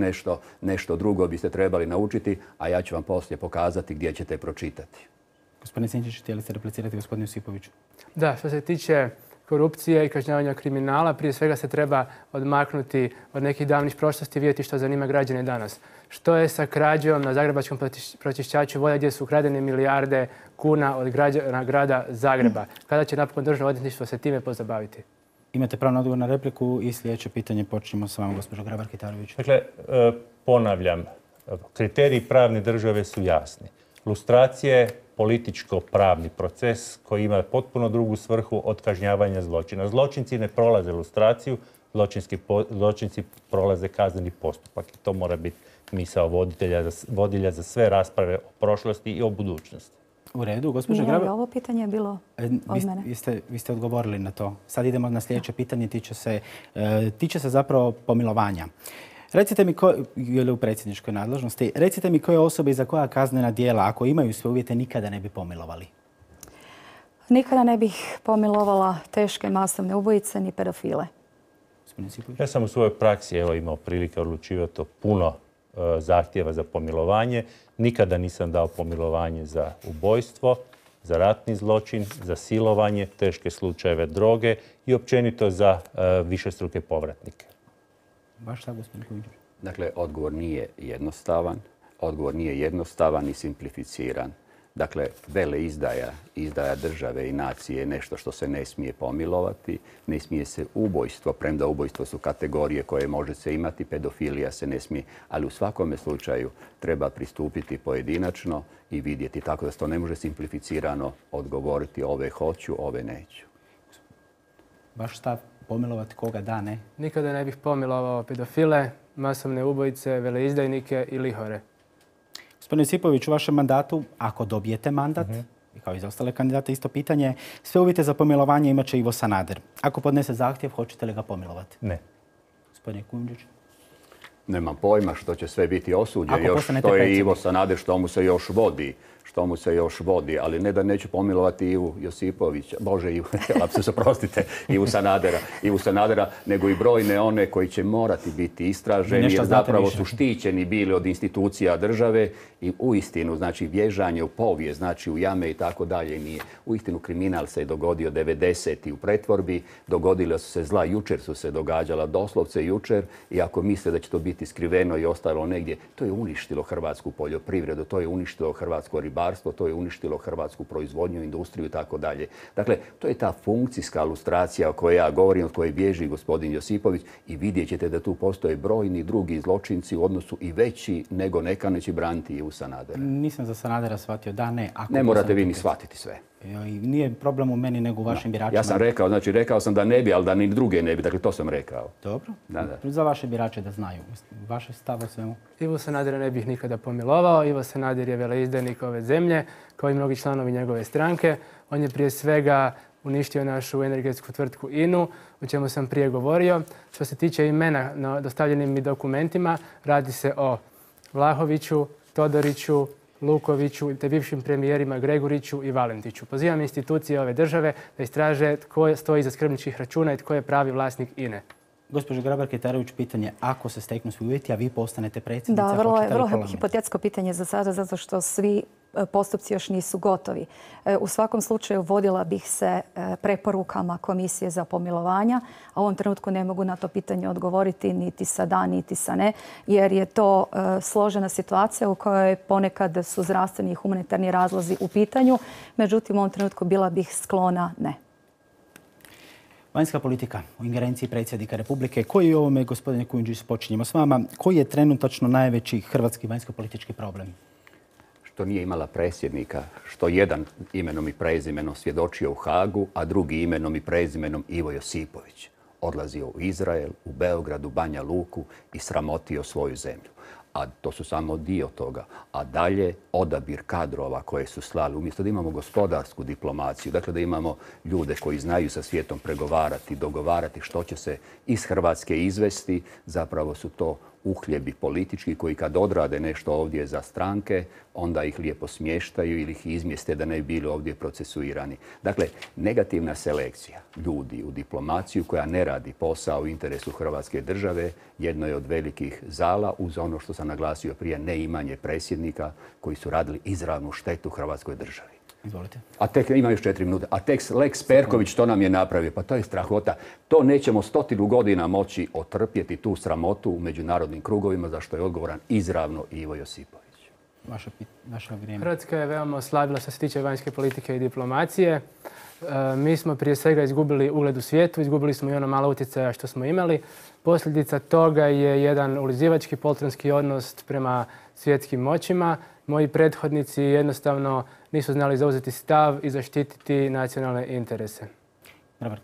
nešto drugo biste trebali naučiti, a ja ću vam poslije pokazati gdje ćete pročitati. Gospodine Sinčić, htjeli ste replicirati gospodinu Josipoviću? Da, što se tiče korupcije i kažnjavanja kriminala, prije svega se treba odmaknuti od nekih davnih prošlosti i vidjeti što zanima građane danas. Što je sa krađom na zagrebačkom pročišćaču vode gdje su ukradene milijarde kuna od građana grada Zagreba? Kada će napokon Državno odvjetništvo se time pozabaviti? Imate pravo na odgovor na repliku i sljedeće pitanje počnemo s vama, gospođo Grabar-Kitarović. Dakle, ponavljam, kriteriji pravne države su jasni. Lustracija je političko-pravni proces koji ima potpuno drugu svrhu od kažnjavanja zločina. Zločinci ne prolaze lustraciju, zločinci prolaze kazneni postupak. I to mora biti misao vodilja za sve rasprave o prošlosti i o budućnosti. U redu, gospođo Grabar. Ovo pitanje je bilo od mene. Vi ste odgovorili na to. Sad idemo na sljedeće pitanje, tiče se zapravo pomilovanja. Recite mi, je li u predsjedničkoj nadležnosti, recite mi koje osobe i za koja kaznena djela, ako imaju sve uvjete, nikada ne bi pomilovali? Nikada ne bih pomilovala teške masovne ubojice ni pedofile. Ja sam u svojoj praksi imao prilike odlučivati o puno zahtjeva za pomilovanje. Nikada nisam dao pomilovanje za ubojstvo, za ratni zločin, za silovanje, teške slučajeve droge i općenito za višestruke povratnike. Baš tako, gospodin Kujundžić. Dakle, odgovor nije jednostavan i simplificiran. Dakle, izdaja države i nacije je nešto što se ne smije pomilovati. Ne smije se ubojstvo, premda ubojstvo su kategorije koje može se imati, pedofilija se ne smije. Ali u svakome slučaju treba pristupiti pojedinačno i vidjeti. Tako da se to ne može simplificirano odgovoriti ove hoću, ove neću. Vaš stav? Pomilovati koga da, ne? Nikada ne bih pomilovao pedofile, masovne ubojice, veleizdajnike i lihore. Gospodine Josipović, u vašem mandatu, ako dobijete mandat, i kao i za ostale kandidate isto pitanje, sve uvjete za pomilovanje imat će Ivo Sanader. Ako podnese zahtjev, hoćete li ga pomilovati? Ne. Gospodine Kujundžić? Nemam pojma što će sve biti osuđeno, još što je Ivo Sanader, što mu se još vodi, ali ne da neću pomilovati Ivu Josipovića, Ivu Sanadera, nego i brojne one koji će morati biti istraženi, jer zapravo su štićeni bili od institucija države i uistinu, znači bježanje u povijest, znači u jame i tako dalje nije. Uistinu kriminal se je dogodio 90. u pretvorbi, dogodila su se zla, jučer su se događala, doslovce jučer, i ako misle da će to biti skriveno i ostalo negdje, to je uništilo hrvatsku poljoprivredu, to je uništilo hrvatsko ribarstvo, to je uništilo hrvatsku proizvodnju, industriju i tako dalje. Dakle, to je ta funkcijska lustracija o kojoj ja govorim, od koje bježi gospodin Josipović, i vidjet ćete da tu postoje brojni drugi zločinci u odnosu i veći nego nekaneći braniti Ivu Sanadera. Nisam za Sanadera shvatio da, ne. Ne morate vi ni shvatiti sve. Nije problem u meni nego u vašim biračima. Ja sam rekao sam da ne bi, ali da ni druge ne bi. Dakle, to sam rekao. Dobro. Za vaše birače da znaju. Vaše stav o svemu? Ivo Sanadera ne bih nikada pomilovao. Ivo Sanader je veleizdajnik ove zemlje, kao i mnogi članovi njegove stranke. On je prije svega uništio našu energetsku tvrtku INA-u, o čemu sam prije govorio. Što se tiče imena na dostavljenim mi dokumentima, radi se o Vlahoviću, Todoriću, Lukoviću te bivšim premijerima Greguriću i Valentiću. Pozivam institucije ove države da istraže tko stoji iza skrbničkih računa i tko je pravi vlasnik INA-e. Gospođo Grabar-Kitarović, pitanje, ako se steknu svi uvjeti, a vi postanete predsjednica, da, vrlo hipotetsko pitanje za sada, zato što svi postupci još nisu gotovi. U svakom slučaju vodila bih se preporukama Komisije za pomilovanja, a u ovom trenutku ne mogu na to pitanje odgovoriti niti sa da, niti sa ne, jer je to složena situacija u kojoj ponekad su zdravstveni i humanitarni razlozi u pitanju. Međutim, u ovom trenutku bila bih sklona ne. Vanjska politika u ingerenciji predsjednika Republike. Koji je ovome, gospodine Kujundžić, počinjemo s vama, koji je trenutačno najveći hrvatski vanjsko-politički problem? Što nije imala predsjednika, što jedan imenom i prezimenom svjedočio u Hagu, a drugi imenom i prezimenom Ivo Josipović. Odlazio u Izrael, u Beograd, u Banja Luku i sramotio svoju zemlju. a to su samo dio toga. A dalje odabir kadrova koje su slali, umjesto da imamo gospodarsku diplomaciju, dakle da imamo ljude koji znaju sa svijetom pregovarati, dogovarati što će se iz Hrvatske izvesti, zapravo su to uhljebi politički koji kad odrade nešto ovdje za stranke, onda ih lijepo smještaju ili ih izmjeste da ne bi bili ovdje procesuirani. Dakle, negativna selekcija ljudi u diplomaciju koja ne radi posao u interesu Hrvatske države jedno je od velikih zala uz ono što sam naglasio prije, neimanje predsjednika koji su radili izravnu štetu Hrvatskoj državi. Izvolite. A tek, ima još 4 minute, a tek Lex Perković to nam je napravio. Pa to je strahota. To nećemo 100 godina moći otrpjeti tu sramotu u međunarodnim krugovima za što je odgovoran izravno Ivo Josipović. Vaše vrijeme. Hrvatska je veoma oslabila što se tiče vanjske politike i diplomacije. Mi smo prije svega izgubili ugled u svijetu, izgubili smo i ono malo utjecaja što smo imali. Posljedica toga je jedan ulizivački poltronski odnos prema svjetskim moćima. Moji prethodnici jednostavno nisu znali zauzeti stav i zaštititi nacionalne interese.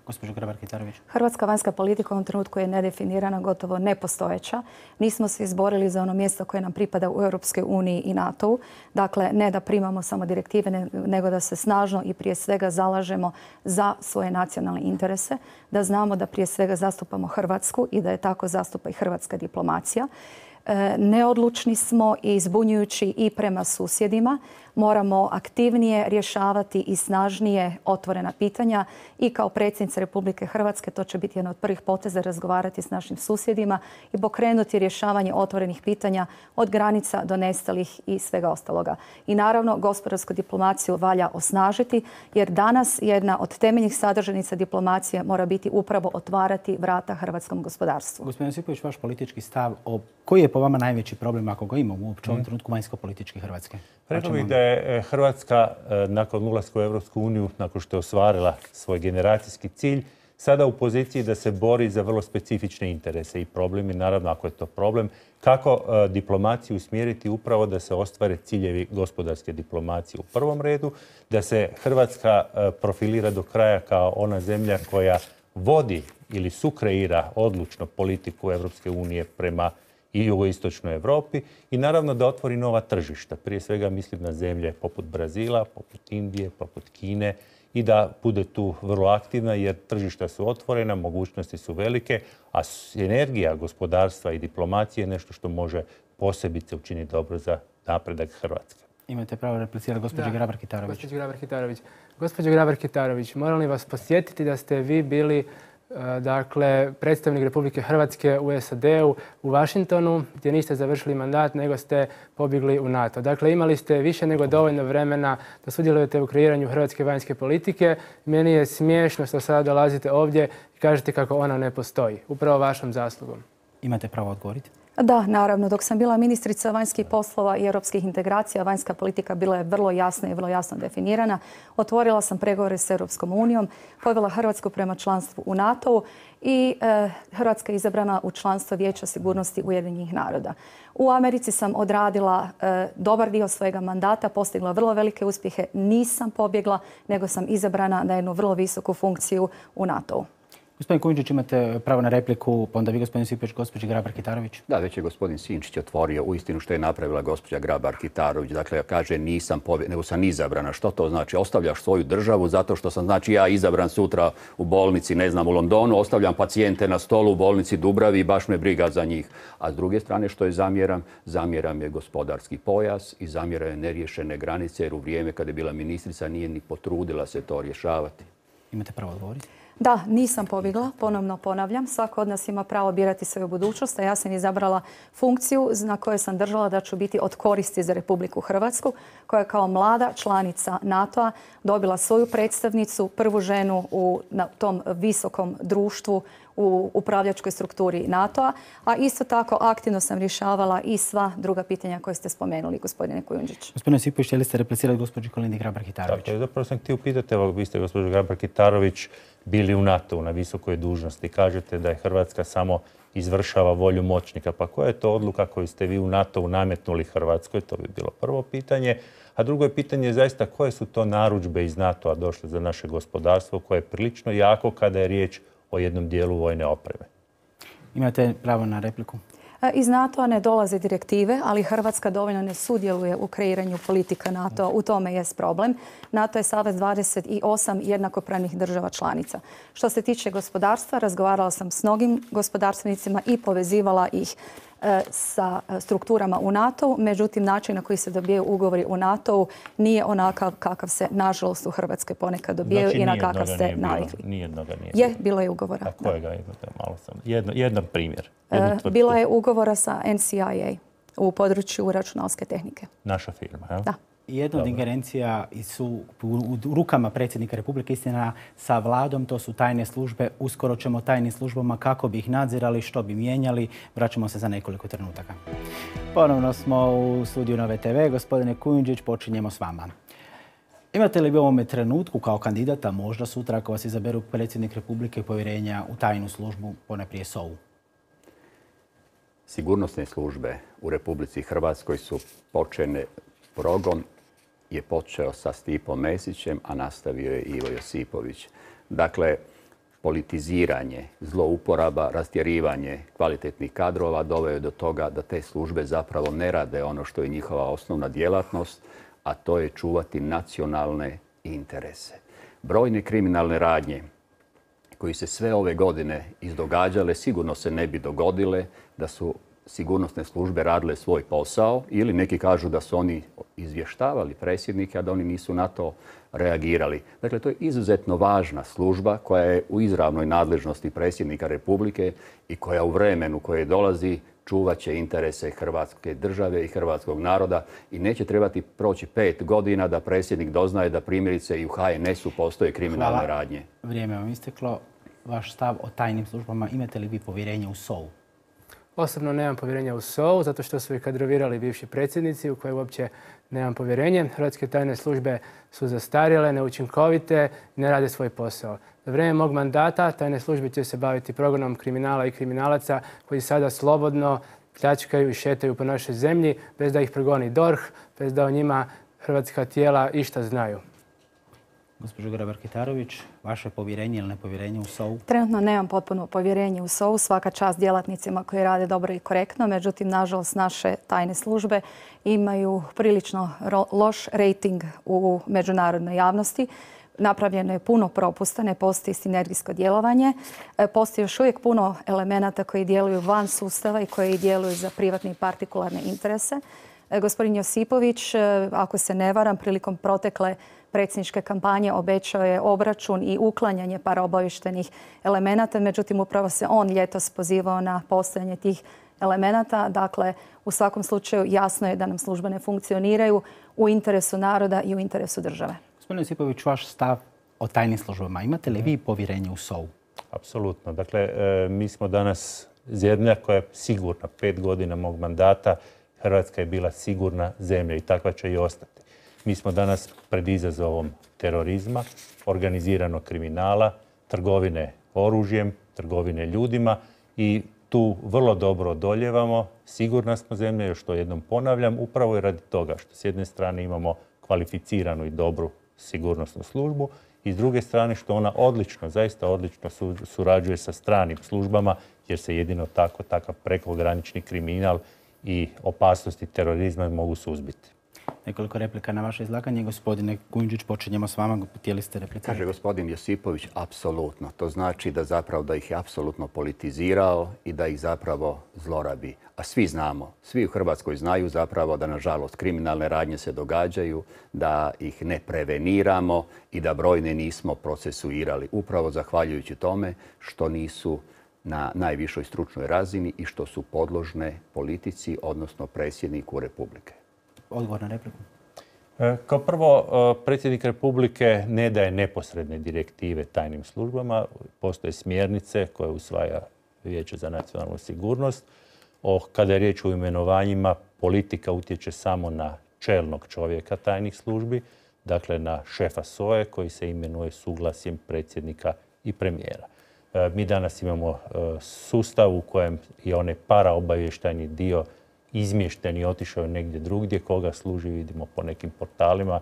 Gospođo Grabar-Kitarović. Hrvatska vanjska politika u ovom trenutku je nedefinirana, gotovo nepostojeća. Nismo se izborili za ono mjesto koje nam pripada u Europskoj uniji i NATO-u. Dakle, ne da primamo samo direktive, nego da se snažno i prije svega zalažemo za svoje nacionalne interese, da znamo da prije svega zastupamo Hrvatsku i da je tako zastupa i hrvatska diplomacija. Neodlučni smo i zbunjujući i prema susjedima. Moramo aktivnije rješavati i snažnije otvorena pitanja i kao predsjednica Republike Hrvatske to će biti jedan od prvih poteza razgovarati s našim susjedima i pokrenuti rješavanje otvorenih pitanja od granica do nestalih i svega ostaloga. I naravno gospodarsku diplomaciju valja osnažiti jer danas jedna od temeljnih sadržanica diplomacije mora biti upravo otvarati vrata hrvatskom gospodarstvu. Gospodin Josipović, vaš politički stav koji je po vama najveći problem ako ga imamo uopće u ovom trenutku vanjsko-politički Hrvatske? Rekao bih da je Hrvatska nakon ulaska u Europsku uniju, nakon što je ostvarila svoj generacijski cilj, sada u poziciji da se bori za vrlo specifične interese i problemi. Naravno, ako je to problem, kako diplomaciju usmjeriti upravo da se ostvare ciljevi gospodarske diplomacije u prvom redu, da se Hrvatska profilira do kraja kao ona zemlja koja vodi ili sukreira odlučno politiku Europske unije prema i jugoistočnoj Europi i naravno da otvori nova tržišta. Prije svega mislim na zemlje poput Brazila, poput Indije, poput Kine i da bude tu vrlo aktivna jer tržišta su otvorena, mogućnosti su velike, a sinergija gospodarstva i diplomacije je nešto što može posebice učiniti dobro za napredak Hrvatske. Imate pravo replicirati, gospođo Grabar-Kitarović. Gospođo Grabar-Kitarović, moram li vas posjetiti da ste vi bili predstavnik Republike Hrvatske u SAD-u, u Washingtonu, gdje niste završili mandat, nego ste pobjegli u NATO. Dakle, imali ste više nego dovoljno vremena da sudjelujete u kreiranju hrvatske vanjske politike. Meni je smiješno što sada dolazite ovdje i kažete kako ona ne postoji. Upravo vašom zaslugom. Imate pravo odgovoriti. Da, naravno. Dok sam bila ministrica vanjskih poslova i europskih integracija, vanjska politika bila je vrlo jasna i vrlo jasno definirana. Otvorila sam pregovore s Europskom unijom, povela Hrvatsku prema članstvu u NATO-u i Hrvatska je izabrana u članstvo Vijeća sigurnosti Ujedinjenih naroda. U Americi sam odradila dobar dio svojega mandata, postigla vrlo velike uspjehe. Nisam pobjegla, nego sam izabrana na jednu vrlo visoku funkciju u NATO-u. Gospodin Kujundžić, imate pravo na repliku, pa onda vi, gospodin Josipović, gospođi Grabar-Kitarović. Da, već je gospodin Sinčić otvorio uistinu što je napravila gospođa Grabar-Kitarović. Dakle, kaže nisam pobjegla, nego sam izabrana. Što to znači? Ostavljaš svoju državu zato što sam, znači, ja izabran sutra u bolnici, ne znam, u Londonu, ostavljam pacijente na stolu u bolnici Dubravi i baš me briga za njih. A s druge strane, što je zamjeram je gospodarski pojas i zamjeram je neriješene granice, jer u vrijeme kada je bila ministrica nije ni potrudila se to rješavati. Imate pravo odgovoriti. Da, nisam pobjegla, ponovno ponavljam. Svako od nas ima pravo birati svoju budućnost, a ja sam izabrala funkciju na kojoj sam držala da ću biti od koristi za Republiku Hrvatsku, koja je kao mlada članica NATO-a dobila svoju predstavnicu, prvu ženu na tom visokom društvu u upravljačkoj strukturi NATO-a, a isto tako aktivno sam rješavala i sva druga pitanja koje ste spomenuli, gospodine Kujundžić. Gospodine Josipović, htjeli ste replicirati gospođi Kolindi Grabar-Kitarović. Tako je, zapravo sam htio pitati, evo vi ste, gospođo Grabar-Kitarović, bili u NATO-u na visokoj dužnosti. Kažete da je Hrvatska samo izvršava volju moćnika. Pa koja je to odluka koju ste vi u NATO-u nametnuli Hrvatskoj? To bi bilo prvo pitanje. A drugo je pitanje zaista koje su to narudžbe iz NATO-a došle za naše gospodarstvo koje je prilično jako kada je riječ o jednom dijelu vojne opreme. Imate pravo na repliku. Iz NATO-a ne dolaze direktive, ali Hrvatska dovoljno ne sudjeluje u kreiranju politika NATO-a. U tome jest problem. NATO je savez 28 jednakopravnih država članica. Što se tiče gospodarstva, razgovarala sam s mnogim gospodarstvenicima i povezivala ih sa strukturama u NATO-u. Međutim, način na koji se dobijaju ugovori u NATO-u nije onakav kakav se, nažalost, u Hrvatskoj ponekad dobijaju i na kakav ste navikli. Nijednoga nije. Je, bilo je ugovora. A kojega imate? Malo sam. Jedan primjer. Bilo je ugovora sa NCIA u području računalske tehnike. Naša firma, jel? Da. Jedna od ingerencija su u rukama predsjednika Republike, istina, sa vladom, to su tajne službe. Uskoro ćemo tajnim službama kako bi ih nadzirali, što bi mijenjali. Vraćamo se za nekoliko trenutaka. Ponovno smo u studiju Nove TV. Gospodine Kujundžić, počinjemo s vama. Imate li u ovome trenutku kao kandidata, možda sutra ako vas izaberu predsjednik Republike, povjerenja u tajnu službu, ponajprije SOA-u? Sigurnosne službe u Republici Hrvatskoj su počene. Progon je počeo sa Stipom Mesićem, a nastavio je Ivo Josipović. Dakle, politiziranje, zlouporaba, rastjerivanje kvalitetnih kadrova doveo je do toga da te službe zapravo ne rade ono što je njihova osnovna djelatnost, a to je čuvati nacionalne interese. Brojne kriminalne radnje koji se sve ove godine izdogađale sigurno se ne bi dogodile da su sigurnosne službe radile svoj posao ili neki kažu da su oni izvještavali predsjednike, a da oni nisu na to reagirali. Dakle, to je izuzetno važna služba koja je u izravnoj nadležnosti predsjednika Republike i koja u vremenu koje dolazi čuvat će interese Hrvatske države i hrvatskog naroda i neće trebati proći 5 godina da predsjednik doznaje da primjerice i u HNS-u postoje kriminalne radnje. Vrijeme vam isteklo. Vaš stav o tajnim službama, imate li vi povjerenje u SOA-u? Osobno nemam povjerenja u SOA-u, zato što su ih kadrovirali bivši predsjednici u koje uopće nemam povjerenje. Hrvatske tajne službe su zastarjele, neučinkovite i ne rade svoj posao. Za vrijeme mog mandata tajne službe će se baviti progonom kriminala i kriminalaca koji sada slobodno pljačkaju i šetaju po našoj zemlji bez da ih progoni DORH, bez da o njima hrvatska tijela išta znaju. Gospođo Grabar-Kitarović, vaše povjerenje ili nepovjerenje u SOA-u? Trenutno nemam potpuno povjerenje u SOA-u. Svaka čast djelatnicima koji rade dobro i korektno. Međutim, nažalost, naše tajne službe imaju prilično loš rejting u međunarodnoj javnosti. Napravljeno je puno propusta, ne postoji sinergijsko djelovanje. Postoji još uvijek puno elemenata koji djeluju van sustava i koji djeluju za privatne i partikularne interese. Gospodin Josipović, ako se ne varam, prilikom protekle predsjedničke kampanje obećao je obračun i uklanjanje paraobavještajnih elemenata. Međutim, upravo se on ljetos pozivao na postojanje tih elemenata. Dakle, u svakom slučaju jasno je da nam službe ne funkcioniraju u interesu naroda i u interesu države. Gospodin Josipović, vaš stav o tajnim službama. Imate li vi povjerenje u SOA-u? Apsolutno. Dakle, mi smo danas zemlja koja je sigurna. 5 godina mog mandata Hrvatska je bila sigurna zemlja i takva će i ostati. Mi smo danas pred izazovom terorizma, organiziranog kriminala, trgovine oružjem, trgovine ljudima i tu vrlo dobro odoljevamo. Sigurna smo zemlja, još to jednom ponavljam, upravo i radi toga što s jedne strane imamo kvalificiranu i dobru sigurnosnu službu i s druge strane što ona odlično, zaista odlično surađuje sa stranim službama jer se jedino takav prekogranični kriminal i opasnosti terorizma mogu suzbiti. Nekoliko replika na vaše izlaganje. Gospodine Kujundžić, počinjemo s vama. Htjeli ste replicirati? Kaže gospodin Josipović, apsolutno. To znači da ih je apsolutno politizirao i da ih zapravo zlorabi. A svi znamo, svi u Hrvatskoj znaju zapravo da nažalost kriminalne radnje se događaju, da ih ne preveniramo i da brojne nismo procesuirali. Upravo zahvaljujući tome što nisu na najvišoj stručnoj razini i što su podložne politici, odnosno predsjedniku Republike. Odgovor na repliku. Kao prvo, predsjednik Republike ne daje neposredne direktive tajnim službama. Postoje smjernice koje usvaja Vijeće za nacionalnu sigurnost. Kada je riječ o imenovanjima, politika utječe samo na čelnog čovjeka tajnih službi, dakle na šefa SOA-e koji se imenuje suglasjem predsjednika i premijera. Mi danas imamo sustav u kojem je onaj paraobavještajni dio izmješten i otišao negdje drugdje. Koga služi vidimo po nekim portalima,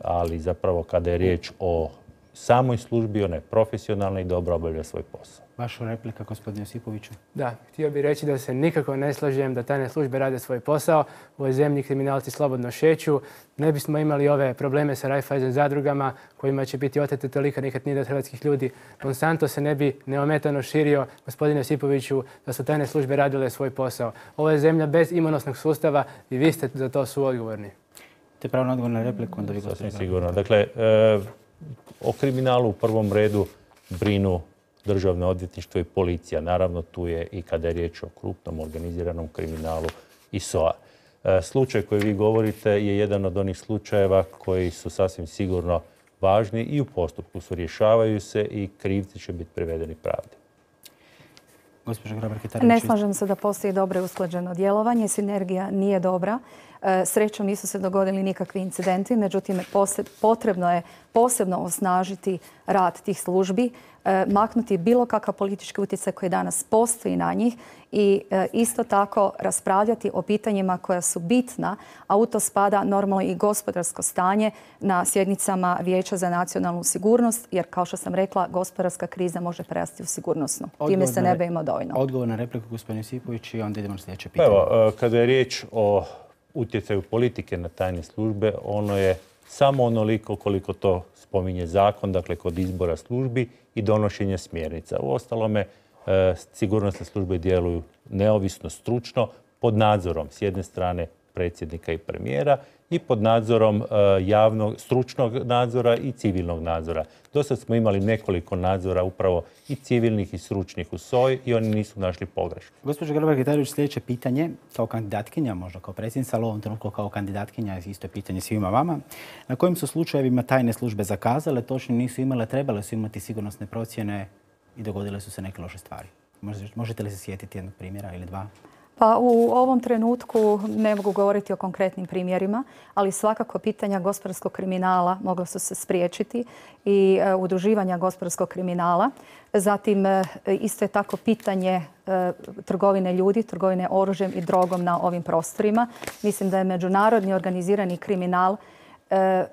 ali zapravo kada je riječ o samoj službi, ona je profesionalna i dobro obavlja svoj posao. Vaša replika, gospodine Josipoviću. Da, htio bih reći da se nikako ne slažem da tajne službe rade svoj posao. U ovoj zemlji kriminalci slobodno šeću. Ne bismo imali ove probleme sa Raiffeisen zadrugama kojima će biti otete tolika nekretnina od hrvatskih ljudi. Monsanto se ne bi neometano širio, gospodine Josipoviću, da su tajne službe radile svoj posao. Ovo je zemlja bez imunosnog sustava i vi ste za to suodgovorni. Te pravo na odgovor na repliku, onda vi Sasvim sigurno. Dakle, o kriminalu u prvom redu brinu Državno odvjetništvo i policija. Naravno, tu je i kada je riječ o krupnom organiziranom kriminalu i SOA. Slučaj koji vi govorite je jedan od onih slučajeva koji su sasvim sigurno važni i u postupku su, rješavaju se i krivci će biti privedeni pravdi. Ne slažem se da postoji dobro i usklađeno djelovanje. Sinergija nije dobra. Srećom nisu se dogodili nikakvi incidenti, međutim potrebno je posebno osnažiti rad tih službi, maknuti bilo kakav politički utjecaj koji danas postoji na njih i isto tako raspravljati o pitanjima koja su bitna, a u to spada normalno i gospodarsko stanje na sjednicama Vijeća za nacionalnu sigurnost, jer kao što sam rekla, gospodarska kriza može prerasti u sigurnosnu. Time se ne bavimo dovoljno. Odgovor na repliku, gospodin Josipović, i onda idemo na sljedeće pitanje. Evo, kada je riječ o utjecaju politike na tajne službe, ono je samo onoliko koliko to spominje zakon, dakle kod izbora službi i donošenja smjernica. Uostalome, sigurnosne službe djeluju neovisno, stručno, pod nadzorom s jedne strane predsjednika i premijera i pod nadzorom stručnog nadzora i civilnog nadzora. Dosad smo imali nekoliko nadzora, upravo i civilnih i stručnih u SOA-i i oni nisu našli pogreške. Gospođo Grabar-Kitarović, sljedeće pitanje, kao kandidatkinja, možda kao predsjednica, ali u ovom trenutku kao kandidatkinja, isto je pitanje svima vama. Na kojim su slučajevima tajne službe zakazale, točno nisu imale, trebale su imati sigurnosne procjene i dogodile su se neke loše stvari? Možete li se sjetiti jednog primjera ili dva? Pa u ovom trenutku ne mogu govoriti o konkretnim primjerima, ali svakako pitanja gospodarskog kriminala mogla su se spriječiti i udruživanja gospodarskog kriminala. Zatim isto je tako pitanje trgovine ljudi, trgovine oružjem i drogom na ovim prostorima. Mislim da je međunarodni organizirani kriminal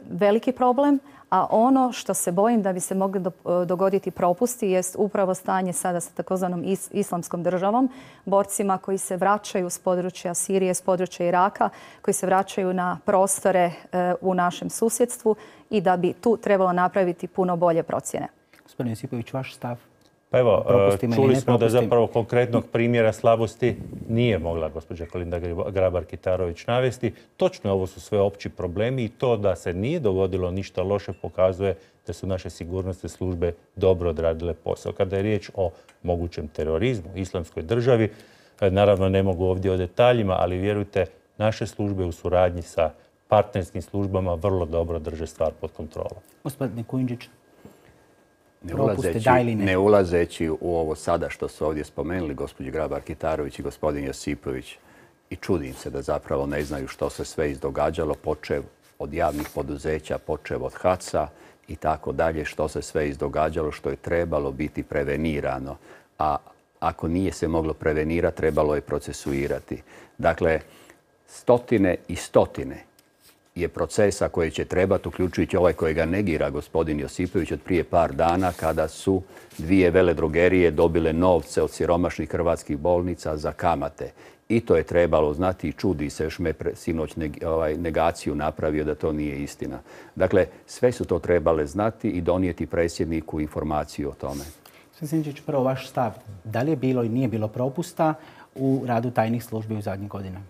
veliki problem, a ono što se bojim da bi se mogli dogoditi propusti jest upravo stanje sada sa takozvanom islamskom državom, borcima koji se vraćaju s područja Sirije, s područja Iraka, koji se vraćaju na prostore u našem susjedstvu i da bi tu trebalo napraviti puno bolje procjene. Gospodin Josipović, vaš stav? Pa evo, čuli smo da zapravo konkretnog primjera slabosti nije mogla gospođa Kolinda Grabar-Kitarović navesti. Točno, ovo su sve opći problemi i to da se nije dogodilo ništa loše pokazuje da su naše sigurnosne službe dobro odradile posao. Kada je riječ o mogućem terorizmu, islamskoj državi, naravno ne mogu ovdje o detaljima, ali vjerujte, naše službe u suradnji sa partnerskim službama vrlo dobro drže stvar pod kontrolom. Gospodine Kujundžić, ne ulazeći u ovo sada što su ovdje spomenuli gospođi Grabar-Kitarović i gospodin Josipović, i čudim se da zapravo ne znaju što se sve izdogađalo, počev od javnih poduzeća, počev od HAC-a i tako dalje, što se sve izdogađalo, što je trebalo biti prevenirano. A ako nije se moglo prevenirati, trebalo je procesuirati. Dakle, stotine i stotine je procesa koji će trebati, uključujući ovaj kojega negira gospodin Josipović od prije par dana, kada su dvije veledrogerije dobile novce od siromašnih hrvatskih bolnica za kamate. I to je trebalo znati i čudi se, još me sinoć negaciju napravio da to nije istina. Dakle, sve su to trebale znati i donijeti predsjedniku informaciju o tome. Sinčić, prvo vaš stav. Da li je bilo i nije bilo propusta u radu tajnih službi u zadnjih godina?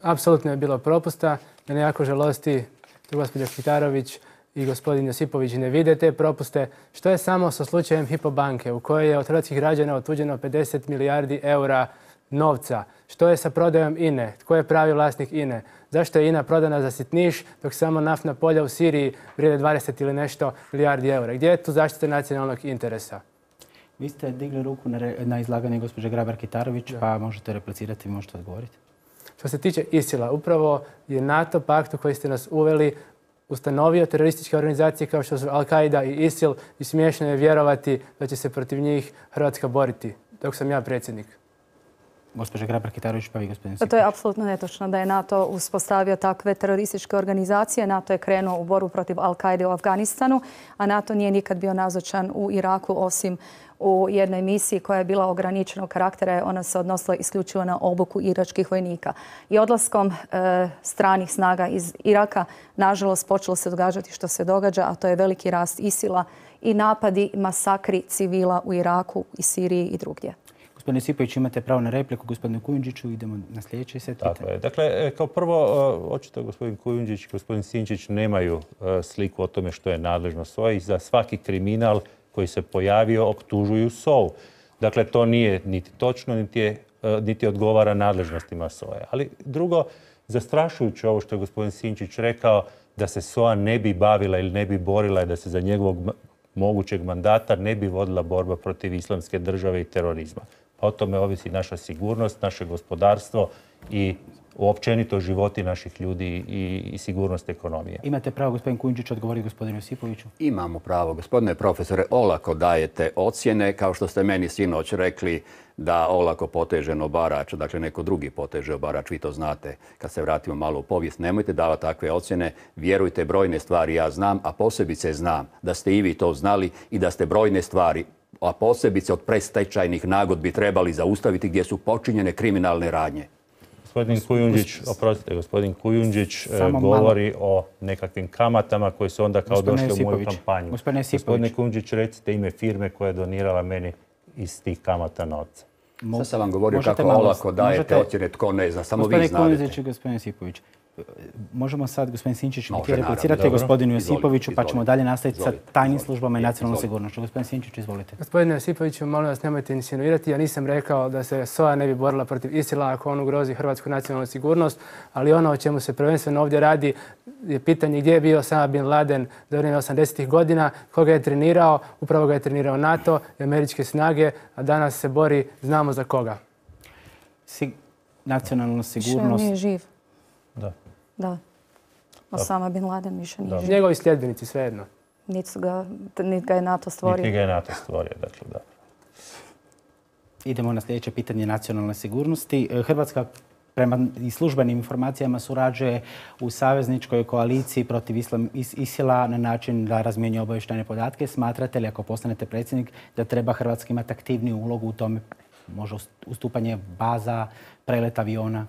Apsolutno je bilo propusta. Mene jako žalosti tu gospođa Kitarović i gospodin Josipović ne vide te propuste. Što je samo sa slučajem Hypo banke u kojoj je od hrvatskih građana otuđeno 50 milijardi eura novca? Što je sa prodajom INE? Tko je pravi vlasnik INE? Zašto je INA prodana za sitniš dok samo naftna polja u Siriji vrijede 20 ili nešto milijardi eura? Gdje je tu zaštita nacionalnog interesa? Vi ste digli ruku na izlaganje gospođe Grabar-Kitarović, pa možete replicirati i možete odgovoriti. Što se tiče ISIL-a, upravo je NATO pakt u koji ste nas uveli ustanovio terorističke organizacije kao što su Al-Qaida i ISIL i smiješno je vjerovati da će se protiv njih Hrvatska boriti dok sam ja predsjednik. Gospođa Grabar-Kitarović, pa vi, gospodin Sipović. To je apsolutno netočno da je NATO uspostavio takve terorističke organizacije. NATO je krenuo u borbu protiv Al-Kaide u Afganistanu, a NATO nije nikad bio nazočan u Iraku osim u jednoj misiji koja je bila ograničenog karaktera. Ona se odnosila isključivo na obuku iračkih vojnika. I odlaskom stranih snaga iz Iraka, nažalost, počelo se događati što se događa, a to je veliki rast ISIL-a i napadi, masakri civila u Iraku i Siriji i drugdje. Gospodine Sipović, imate pravo na repliku. Gospodinu Kujundžiću, idemo na sljedeći set pitanja. Tako je. Dakle, kao prvo, očito gospodin Kujundžić i gospodin Sinčić nemaju sliku o tome što je nadležno SOA-i. Za svaki kriminal koji se pojavio optužuju SOA-u. Dakle, to nije niti točno, niti odgovara nadležnostima SOA-e. Ali drugo, zastrašujuće ovo što je gospodin Sinčić rekao, da se SOA ne bi bavila ili ne bi borila i da se za njegovog mogućeg mandata ne bi vodila borba protiv islamske države i terorizma. Pa o tome ovisi naša sigurnost, naše gospodarstvo i općenito životi naših ljudi i sigurnost ekonomije. Imate pravo, gospodin Kujundžić, odgovoriti gospodinu Josipoviću. Imamo pravo. Gospodine profesore, olako dajete ocjene, kao što ste meni sinoć rekli da olako poteže obarač, dakle neko drugi poteže obarač, vi to znate. Kad se vratimo malo u povijest, nemojte davati takve ocjene. Vjerujte, brojne stvari ja znam, a posebice znam da ste i vi to znali i da ste brojne stvari, a posebice od predstečajnih nagodbi trebali zaustaviti gdje su počinjene kriminalne radnje. Gospodin Kujundžić govori o nekakvim kamatama koje su onda kao došle u moju kampanju. Gospodine Kujundžić, recite ime firme koja je donirala meni iz tih kamata novca. Sad sam vam govorio kako olako dajete ocjene, tko ne zna, samo vi znate. Gospodine Kujundžić i gospodin Josipović, možemo sad, gospodin Sinčić, replicirati gospodinu Josipoviću, pa ćemo dalje nastaviti sa tajnim službama i nacionalnom sigurnošću. Gospodin Sinčić, izvolite. Gospodine Josipoviću, molim vas, nemojte insinuirati. Ja nisam rekao da se SOA ne bi borila protiv ISIL-a ako on ugrozi hrvatsku nacionalnu sigurnost, ali ono o čemu se prvenstveno ovdje radi je pitanje gdje je bio Osama bin Laden za vrijeme 80-ih godina, koga je trenirao, upravo ga je trenirao NATO i američke snage, a danas se bori, znamo za koga. Nacionalna sigurnost... Više nije živ. Da. Osama bin Laden više nije živ. Njegovi sljedbenici, svejedno. Niti ga je NATO stvorio. Niti ga je NATO stvorio, dakle da. Idemo na sljedeće pitanje nacionalne sigurnosti. Hrvatska prema službenim informacijama surađuje u savezničkoj koaliciji protiv ISIL-a na način da razmjenjuje obavještajne podatke. Smatrate li, ako postanete predsjednik, da treba Hrvatska imati aktivniju ulogu u tome, može ustupanje baza, prelet aviona?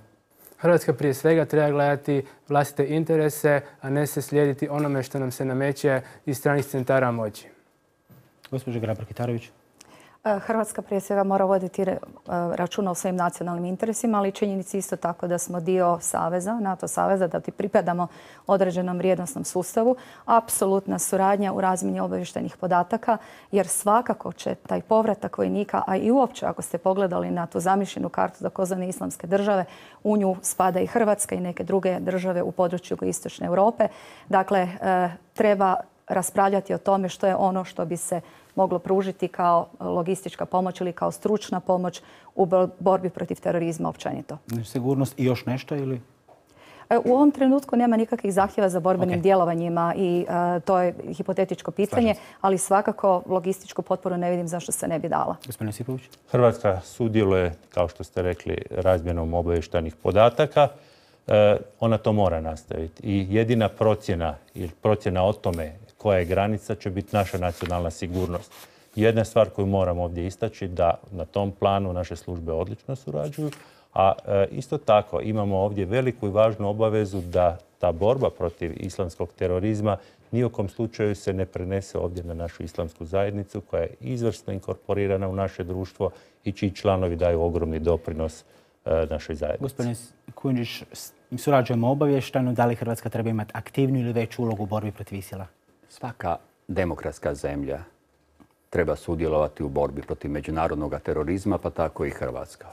Hrvatska prije svega treba gledati vlastite interese, a ne se slijediti onome što nam se nameće iz stranih centara moći. Gospođa Grabar-Kitarović. Hrvatska prije svega mora voditi računa o svojim nacionalnim interesima, ali činjenici isto tako da smo dio saveza, NATO saveza, da ti pripadamo određenom vrijednosnom sustavu. Apsolutna suradnja u razmjeni obavještajnih podataka, jer svakako će taj povratak vojnika, a i uopće ako ste pogledali na tu zamišljenu kartu takozvane islamske države, u nju spada i Hrvatska i neke druge države u području jugoistočne Europe. Dakle, treba raspravljati o tome što je ono što bi se moglo pružiti kao logistička pomoć ili kao stručna pomoć u borbi protiv terorizma općenito. Sigurnost i još nešto ili? U ovom trenutku nema nikakvih zahtjeva za borbenim djelovanjima i to je hipotetičko pitanje, ali svakako logističku potporu ne vidim zašto se ne bi dala. Gospodine Josipović. Hrvatska sudjeluje, kao što ste rekli, razmjenom obavještajnih podataka. Ona to mora nastaviti. I jedina procjena ili procjena o tome koja je granica će biti naša nacionalna sigurnost. Jedna stvar koju moram ovdje istaći da na tom planu naše službe odlično surađuju, a isto tako imamo ovdje veliku i važnu obavezu da ta borba protiv islamskog terorizma ni u kom slučaju se ne prenese ovdje na našu islamsku zajednicu koja je izvrsno inkorporirana u naše društvo i čiji članovi daju ogromni doprinos našoj zajednici. Gospodine Kujundžić, surađujemo obavještajno. Da li Hrvatska treba imati aktivniju ili veću ulogu u borbi protiv ISIL-a? Svaka demokratska zemlja treba sudjelovati u borbi protiv međunarodnog terorizma, pa tako i Hrvatska.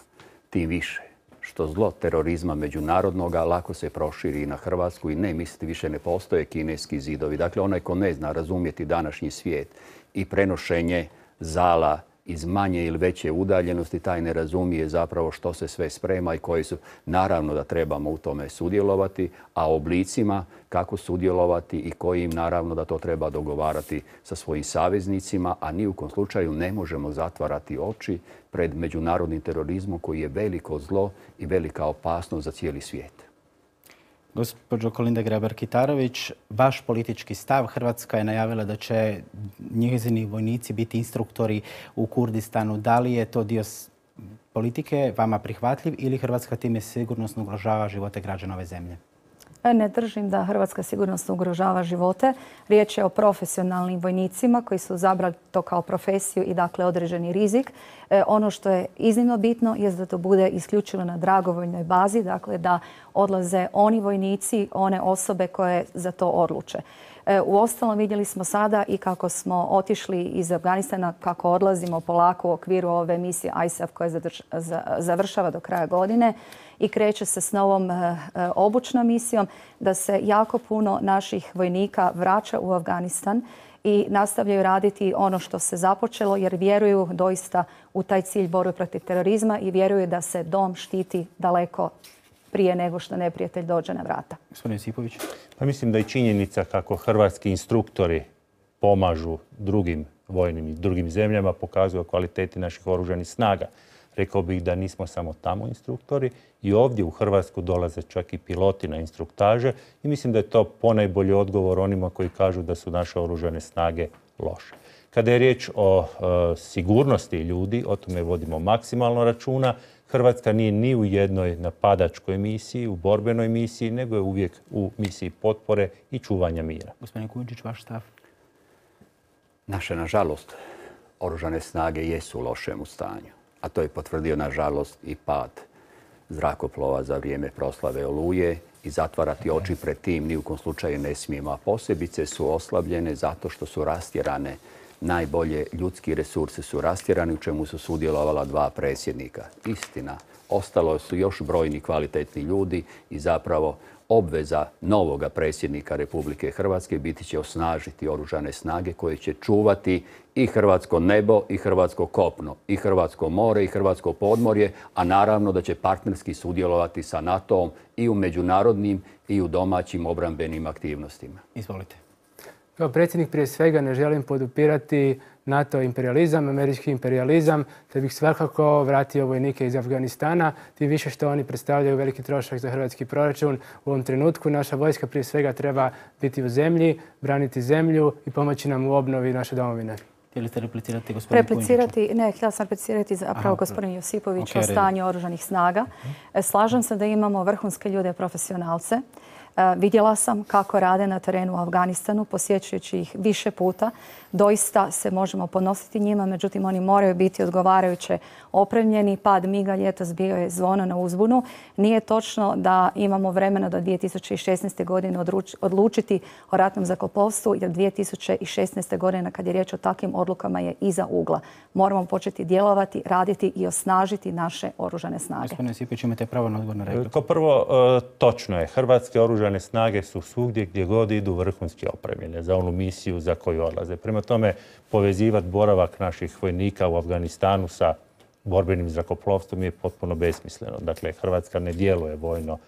Tim više što zlo terorizma međunarodnoga lako se proširi i na Hrvatsku i ne misliti više ne postoje kineski zidovi. Dakle, onaj ko ne zna razumjeti današnji svijet i prenošenje zala iz manje ili veće udaljenosti, taj ne razumije zapravo što se sve sprema i koji su. Naravno da trebamo u tome sudjelovati, a oblicima kako sudjelovati i kojim naravno da to treba dogovarati sa svojim saveznicima, a ni u kom slučaju ne možemo zatvarati oči pred međunarodnim terorizmom koji je veliko zlo i velika opasnost za cijeli svijet. Gospođo Kolinda Grabar-Kitarović, vaš politički stav, Hrvatska je najavila da će njezini vojnici biti instruktori u Kurdistanu. Da li je to dio politike vama prihvatljiv ili Hrvatska time sigurnosno ugrožava živote građana ove zemlje? Ne držim da Hrvatska sigurnosno ugrožava živote. Riječ je o profesionalnim vojnicima koji su izabrali to kao profesiju i dakle određeni rizik. Ono što je iznimno bitno je da to bude isključivo na dragovoljnoj bazi, dakle da odlaze oni vojnici, one osobe koje za to odluče. Uostalom vidjeli smo sada i kako smo otišli iz Afganistana, kako odlazimo polako u okviru ove misije ISAF koja završava do kraja godine i kreće se s novom obučnom misijom, da se jako puno naših vojnika vraća u Afganistan i nastavljaju raditi ono što se započelo jer vjeruju doista u taj cilj borbe protiv terorizma i vjeruju da se dom štiti daleko prije nego što neprijatelj dođe na vrata. Gospodin Josipović. Pa mislim da i činjenica kako hrvatski instruktori pomažu drugim vojnim i drugim zemljama pokazuje o kvaliteti naših oružanih snaga. Rekao bih da nismo samo tamo instruktori i ovdje u Hrvatsku dolaze čak i piloti na instruktaže i mislim da je to ponajbolji odgovor onima koji kažu da su naše oružane snage loše. Kada je riječ o sigurnosti ljudi, o tome vodimo maksimalno računa. Hrvatska nije ni u jednoj napadačkoj misiji, u borbenoj misiji, nego je uvijek u misiji potpore i čuvanja mira. Gospodin Kujundžić, vaš stav? Naše, nažalost, oružane snage jesu u lošem stanju. A to je potvrdio, nažalost, i pad zrakoplova za vrijeme proslave Oluje i zatvarati oči pred tim ni u kom slučaju ne smijemo. A posebice su oslabljene zato što su rastjerane. Najbolje ljudski resursi su rastjerani u čemu su sudjelovala 2 predsjednika. Istina, ostalo su još brojni kvalitetni ljudi i zapravo obveza novoga predsjednika Republike Hrvatske biti će osnažiti oružane snage koje će čuvati i hrvatsko nebo i hrvatsko kopno, i hrvatsko more i hrvatsko podmorje, a naravno da će partnerski sudjelovati sa NATO-om i u međunarodnim i u domaćim obrambenim aktivnostima. Izvolite. Kao predsjednik prije svega ne želim podupirati NATO imperializam, američki imperializam, te bih svakako vratio vojnike iz Afganistana, tim više što oni predstavljaju veliki trošak za hrvatski proračun. U ovom trenutku naša vojska prije svega treba biti u zemlji, braniti zemlju i pomoći nam u obnovi naše domovine. Htjeli ste replicirati gospodinu Kujundžiću? Ne, htjela sam replicirati zapravo gospodinu Josipoviću o stanju oružanih snaga. Slažem se da imamo vrhunske ljude, profesionalce. Vidjela sam kako rade na terenu u Afganistanu, posjećujući ih više puta. Doista se možemo ponositi njima, međutim oni moraju biti odgovarajuće opremljeni. Pad MIG-a ljetos bio je zvono na uzbunu. Nije točno da imamo vremena do 2016. godine odlučiti o ratnom zrakoplovstvu, jer 2016. godina kad je riječ o takvim odlukama je iza ugla. Moramo početi djelovati, raditi i osnažiti naše oružane snage. Gospodine Josipović, imate pravo na odgovor na repliku. Kao prvo, točno je. Hrvatske oružane snage su svugdje gdje god idu vrhunski opremljene za onu misiju za koju odlaze. Prema tome, povezivati boravak naših vojnika u Afganistanu sa borbenim zrakoplovstvom je potpuno besmisleno. Dakle, Hrvatska ne djeluje vojno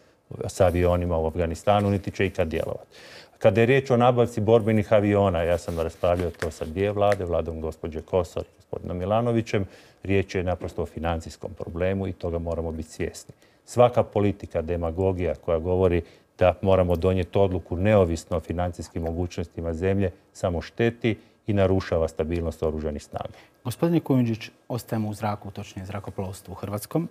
s avionima u Afganistanu, niti će ikad djelovati. Kada je riječ o nabavci borbenih aviona, ja sam raspravljao to sa 2 vlade, vladom gospođe Kosor i gospodinom Milanovićem, riječ je naprosto o financijskom problemu i toga moramo biti svjesni. Svaka politika, demagogija koja govori da moramo donijeti odluku neovisno o financijskim mogućnostima zemlje samo šteti i narušava stabilnost oružanih snaga. Gospodine Kujundžić, ostajemo u zraku, točnije zrakoplovstvu u Hrvatskom.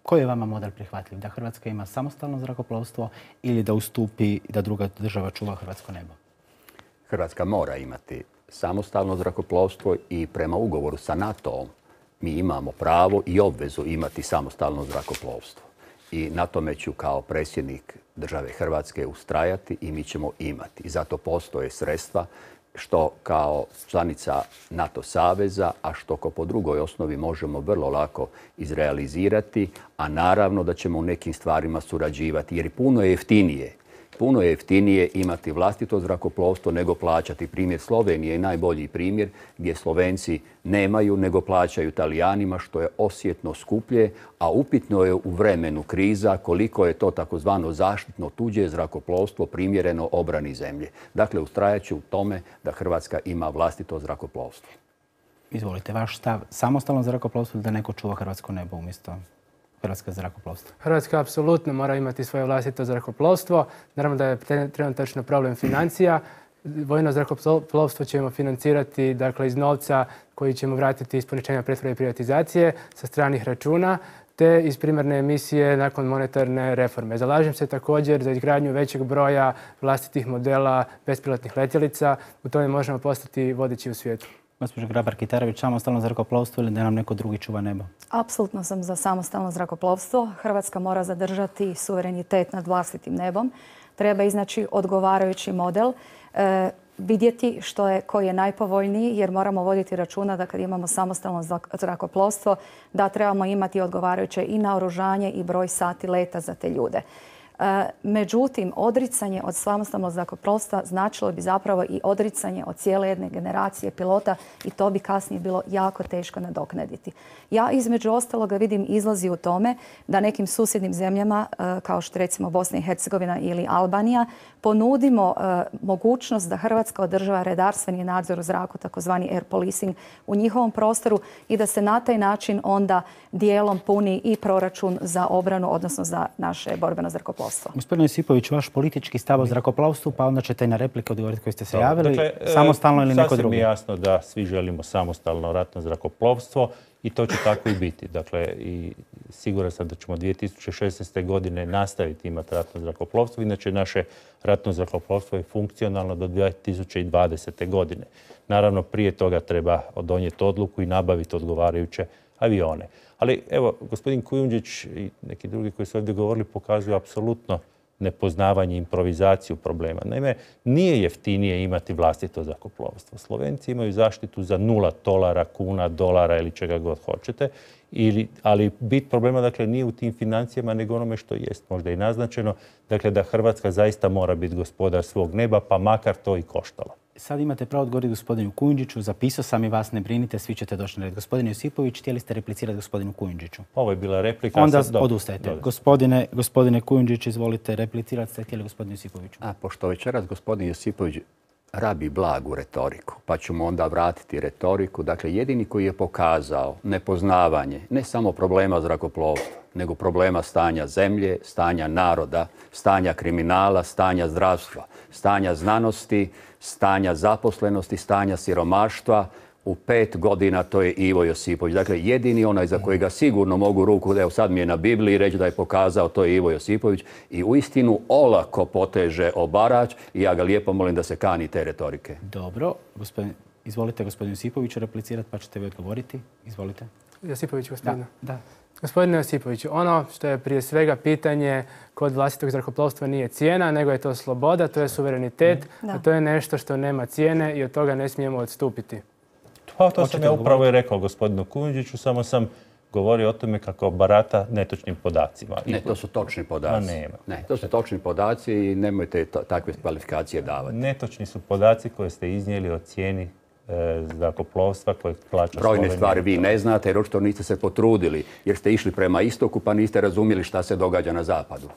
Koji je vama model prihvatljiv? Da Hrvatska ima samostalno zrakoplovstvo ili da ustupi da druga država čuva hrvatsko nebo? Hrvatska mora imati samostalno zrakoplovstvo i prema ugovoru sa NATO-om mi imamo pravo i obvezu imati samostalno zrakoplovstvo. I na tome ću kao predsjednik države Hrvatske ustrajati i mi ćemo imati. I zato postoje sredstva što kao članica NATO saveza, a što ko po drugoj osnovi možemo vrlo lako izrealizirati, a naravno da ćemo u nekim stvarima surađivati. Jer puno je jeftinije Puno je jeftinije imati vlastito zrakoplovstvo nego plaćati. Primjer Slovenije je najbolji primjer gdje Slovenci nemaju nego plaćaju Talijanima, što je osjetno skuplje, a upitno je u vremenu kriza koliko je to takozvano zaštitno tuđe zrakoplovstvo primjereno obrani zemlje. Dakle, ustrajat ću u tome da Hrvatska ima vlastito zrakoplovstvo. Izvolite, vaš stav, samostalno zrakoplovstvo ili da neko čuva hrvatsko nebo umjesto Hrvatska zrakoplovstva? Hrvatska apsolutno mora imati svoje vlastito zrakoplovstvo. Naravno da je trenutačno problem financija. Vojno zrakoplovstvo ćemo financirati iz novca koji ćemo vratiti iz poništenja pretvorbe i privatizacije sa stranih računa te iz primarne emisije nakon monetarne reforme. Zalažem se također za izgradnju većeg broja vlastitih modela bespilotnih letjelica. U tome možemo postati vodeći u svijetu. Gospođo Grabar-Kitarović, samostalno zrakoplovstvo ili da nam neko drugi čuva nebo? Apsolutno sam za samostalno zrakoplovstvo. Hrvatska mora zadržati suverenitet nad vlastitim nebom. Treba iznaći odgovarajući model, vidjeti koji je najpovoljniji, jer moramo voditi računa da kad imamo samostalno zrakoplovstvo, da trebamo imati odgovarajuće i naoružanje i broj sati leta za te ljude. Međutim, odricanje od samostalnog zrakoplovstva značilo bi zapravo i odricanje od cijele jedne generacije pilota i to bi kasnije bilo jako teško nadoknaditi. Ja između ostaloga vidim izlazi u tome da nekim susjednim zemljama, kao što recimo Bosna i Hercegovina ili Albanija, ponudimo mogućnost da Hrvatska održava redarstveni nadzor u zraku, takozvani air policing, u njihovom prostoru i da se na taj način onda dijelom puni i proračun za obranu, odnosno za naše borbeno zrakoplovstvo. Gospodine Josipović, vaš politički stav o zrakoplovstvu, pa onda ćete i na replike odgovoriti koji ste se javili. Samostalno ili neko drugo? Sasvim je jasno da svi želimo samostalno ratno zrakoplovstvo i to će tako i biti. Dakle, i siguran sam da ćemo 2016. godine nastaviti imati ratno zrakoplovstvo. Inače, naše ratno zrakoplovstvo je funkcionalno do 2020. godine. Naravno, prije toga treba donijeti odluku i nabaviti odgovarajuće avione. Ali evo, gospodin Kujundžić i neki drugi koji su ovdje govorili pokazuju apsolutno nepoznavanje i improvizaciju problema. Naime, nije jeftinije imati vlastito zrakoplovstvo. Slovenci imaju zaštitu za 0 tolara, kuna, dolara ili čega god hoćete. Ali bit problema dakle, nije u tim financijama nego onome što jest možda i naznačeno. Dakle, da Hrvatska zaista mora biti gospodar svog neba, pa makar to i koštalo. Sad imate pravo odgovoriti gospodinu Kujundžiću. Zapisao sam i vas ne brinite, svi ćete doći na red. Gospodine Josipović, htjeli ste replicirati gospodinu Kujundžiću? Ovo je bila replika. Onda odustajete. Gospodine Kujundžić, izvolite replicirati. Ste htjeli gospodinu Josipoviću? Pošto večeras gospodin Josipović rabi blagu retoriku, pa ćemo onda vratiti retoriku. Dakle, jedini koji je pokazao nepoznavanje ne samo problema zrakoplovstva, nego problema stanja zemlje, stanja naroda, stanja kriminala, stanja zdravstva, stanja znanosti, stanja zaposlenosti, stanja siromaštva. U 5 godina to je Ivo Josipović. Dakle, jedini onaj za kojega sigurno mogu ruku, evo sad mi je na Bibliji reći da je pokazao, to je Ivo Josipović i uistinu olako poteže obarač i ja ga lijepo molim da se kani te retorike. Dobro. Izvolite gospodinu Josipoviću replicirati pa ćete vi odgovoriti. Izvolite. Josipović, gospodine. Da. Gospodine Josipoviću, ono što je prije svega pitanje kod vlastitog zrakoplovstva nije cijena, nego je to sloboda, to je suverenitet, a to je nešto što nema cijene i od toga ne smijemo odstupiti. Pa to sam ja upravo i rekao gospodinu Kujundžiću, samo sam govorio o tome kako barata netočnim podacima. Ne, to su točni podaci. Ne, to su točni podaci i nemojte takve kvalifikacije davati. Netočni su podaci koje ste iznijeli o cijeni zrakoplovstva koje plaća Slovenija. Brojne stvari vi ne znate jer očito niste se potrudili jer ste išli prema istoku pa niste razumjeli šta se događa na zapadu.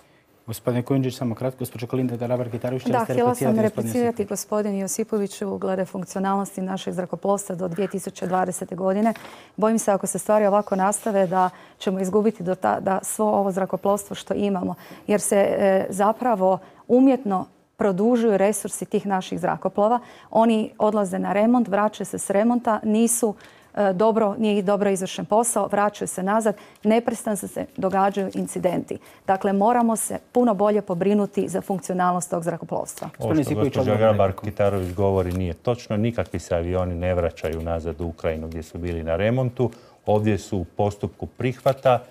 Gospodine Kujundžić, samo kratko. Gospođo Kolinda Grabar-Kitarović, da, htjela sam replicirati gospodinu Josipoviću glede funkcionalnosti našeg zrakoplovstva do 2020. godine. Bojim se ako se stvari ovako nastave da ćemo izgubiti da svo ovo zrakoplovstvo što imamo. Jer se zapravo umjetno produžuju resursi tih naših zrakoplova. Oni odlaze na remont, vraćaju se s remonta, nije ih dobro izvršen posao, vraćaju se nazad, neprestano se događaju incidenti. Dakle, moramo se puno bolje pobrinuti za funkcionalnost tog zrakoplovstva. Ovo što gospođa Grabar-Kitarović govori nije točno. Nikakvi se avioni ne vraćaju nazad u Ukrajinu gdje su bili na remontu. Ovdje su u postupku prihvata,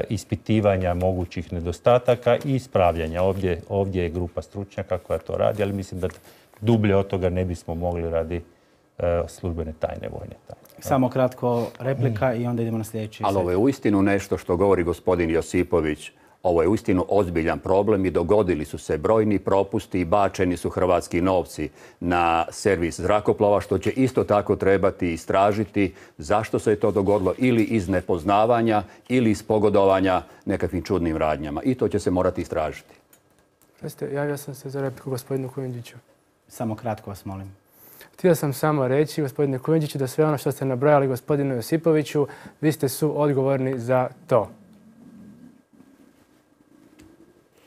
ispitivanja mogućih nedostataka i ispravljanja. Ovdje je grupa stručnjaka koja to radi, ali mislim da dublje od toga ne bismo mogli radi službene tajne, vojne tajne. Samo kratko replika i onda idemo na sljedeći. Ali ovo je uistinu nešto što govori gospodin Josipović Ovo je uistinu ozbiljan problem i dogodili su se brojni propusti i bačeni su hrvatski novci na servis zrakoplova, što će isto tako trebati istražiti zašto se je to dogodilo ili iz nepoznavanja ili iz pogodovanja nekakvim čudnim radnjama. I to će se morati istražiti. Javio sam se za repliku gospodinu Kujundžiću. Samo kratko vas molim. Htio sam samo reći, gospodine Kujundžiću, da sve ono što ste nabrojali gospodinu Josipoviću, vi ste suodgovorni za to.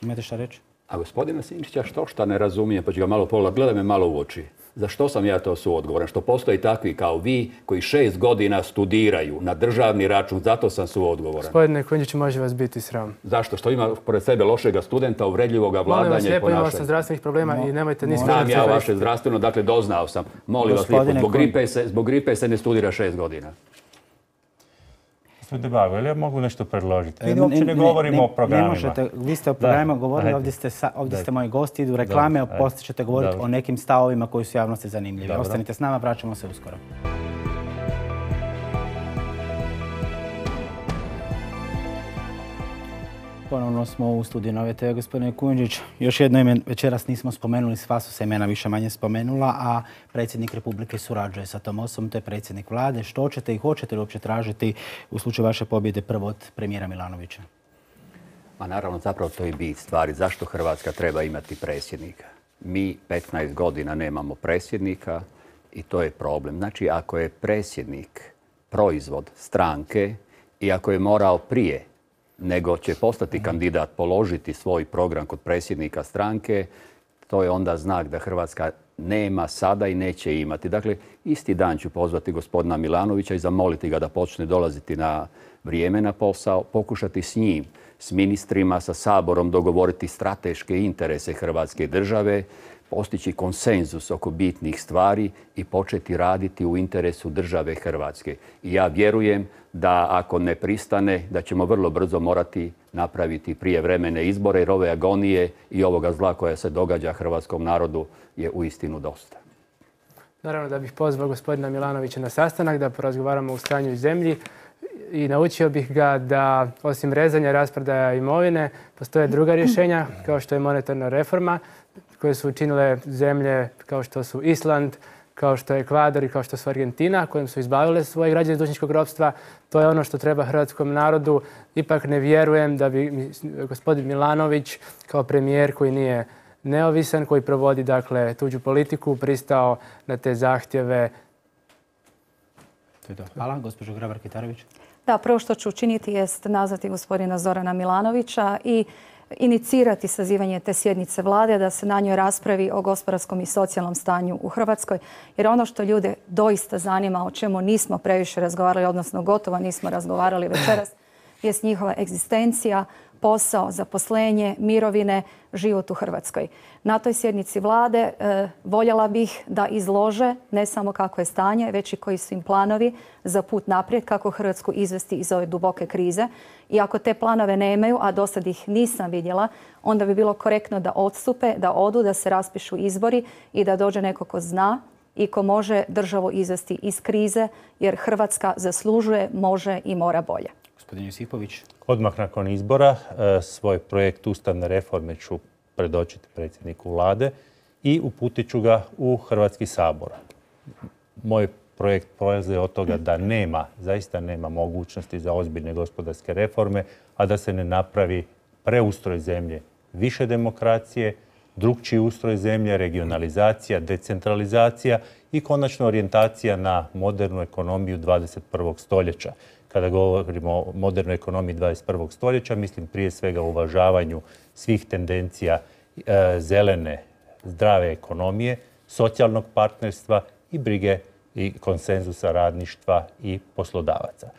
Imate šta reći? A gospodina Sinčića što ne razumijem, pa ću ga malo pogledati, gledaj me malo u oči. Za što sam ja to suodgovoran? Što postoji takvi kao vi koji 6 godina studiraju na državni račun, zato sam suodgovoran. Gospodine Kujundžiću, može vas biti sram. Zašto? Što ima pored sebe lošega studenta, uvredljivoga vladanja i ponašanja? Molim vas, lijepo, imao sam zdravstvenih problema i nemojte ni Znam ja vaše zdravstveno, dakle doznao sam. Molim vas lijepo, zbog gripe se ne studira 6 godina. Gospodine Bago, ja mogu nešto predložiti? Mi uopće ne govorimo o programima. Ne možete, vi ste o programima govorili, ovdje ste moji gosti, idu reklame, poslije ćete govoriti o nekim stavovima koji su javnosti zanimljivi. Ostanite s nama, vraćamo se uskoro. Ponovno smo u studiju Nove TV, gospodine Kujundžić. Još jedno ime večeras nismo spomenuli, sva su se imena više manje spomenula, a predsjednik Republike surađuje sa tom osobom, to je predsjednik vlade. Što ćete i hoćete li uopće tražiti u slučaju vaše pobjede prvo od premijera Milanovića? Ma naravno, zapravo to je bit stvari. Zašto Hrvatska treba imati predsjednika? Mi 15 godina nemamo predsjednika i to je problem. Znači, ako je predsjednik proizvod stranke i ako je morao prije nego će postati kandidat položiti svoj program kod predsjednika stranke, to je onda znak da Hrvatska nema sada i neće imati. Dakle, isti dan ću pozvati gospodina Milanovića i zamoliti ga da počne dolaziti na vrijeme na posao, pokušati s njim, s ministrima, sa Saborom dogovoriti strateške interese Hrvatske države, postići konsenzus oko bitnih stvari i početi raditi u interesu države Hrvatske. I ja vjerujem da ako ne pristane, da ćemo vrlo brzo morati napraviti prijevremene izbore, jer ove agonije i ovoga zla koja se događa hrvatskom narodu je uistinu dosta. Naravno da bih pozvao gospodina Milanovića na sastanak, da porazgovaramo o stanju i zemlji i naučio bih ga da osim rezanja, rasprodaja imovine, postoje druga rješenja kao što je monetarna reforma koje su učinile zemlje kao što su Island, kao što je Ekvador i kao što su Argentina, kojim su izbavile svoje građane iz dužničkog ropstva. To je ono što treba hrvatskom narodu. Ipak ne vjerujem da bi gospodin Milanović kao premijer koji nije neovisan, koji provodi dakle tuđu politiku, pristao na te zahtjeve. Hvala, gospođo Grabar-Kitarović. Da, prvo što ću učiniti jest nazvati gospodina Zorana Milanovića i inicirati sazivanje te sjednice vlade da se na njoj raspravi o gospodarskom i socijalnom stanju u Hrvatskoj. Jer ono što ljude doista zanima, o čemu nismo previše razgovarali, odnosno gotovo nismo razgovarali večeras, jest njihova egzistencija, posao, zaposlenje, mirovine, život u Hrvatskoj. Na toj sjednici vlade voljela bih da izlože ne samo kako je stanje, već i koji su im planovi za put naprijed, kako Hrvatsku izvesti iz ove duboke krize. I ako te planove nemaju, a do sad ih nisam vidjela, onda bi bilo korektno da odstupe, da odu, da se raspišu izbori i da dođe neko ko zna i ko može državu izvesti iz krize, jer Hrvatska zaslužuje, može i mora bolje. Gospodin Josipović. Odmah nakon izbora svoj projekt ustavne reforme ću predočiti predsjedniku vlade i uputit ću ga u Hrvatski sabor. Moj projekt polazi od toga da zaista nema mogućnosti za ozbiljne gospodarske reforme, a da se ne napravi preustroj zemlje, više demokracije, drukčiji ustroj zemlje, regionalizacija, decentralizacija i konačno orijentacija na modernu ekonomiju 21. stoljeća. Kada govorimo o modernoj ekonomiji 21. stoljeća, mislim prije svega o uvažavanju svih tendencija zelene, zdrave ekonomije, socijalnog partnerstva i brige i konsenzusa radništva i poslodavaca.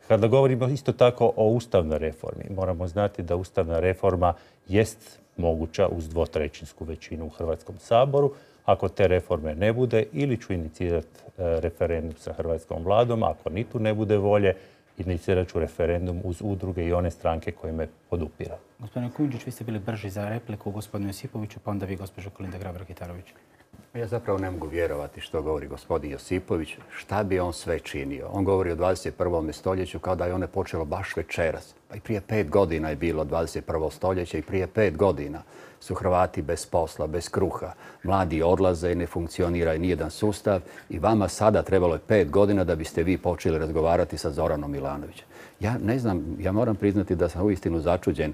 Kada govorimo isto tako o ustavnoj reformi, moramo znati da ustavna reforma jest moguća uz dvotrećinsku većinu u Hrvatskom saboru. Ako te reforme ne bude, ili ću inicirati referendum sa hrvatskom vladom, ako ni tu ne bude volje, inicirat ću referendum uz udruge i one stranke koje me podupira. Gospodine Kujundžić, vi ste bili brži za repliku gospodinu Josipoviću, pa onda vi, gospođo Kolinda Grabar-Kitarović. Ja zapravo ne mogu vjerovati što govori gospodin Josipović. Šta bi on sve činio? On govori o 21. stoljeću kao da je ono počelo baš večeras. Pa i prije 5 godina je bilo 21. stoljeće i prije 5 godina su Hrvati bez posla, bez kruha. Mladi odlaze i ne funkcionira nijedan sustav i vama sada trebalo je 5 godina da biste vi počeli razgovarati sa Zoranom Milanovićem. Ja ne znam, ja moram priznati da sam uistinu začuđen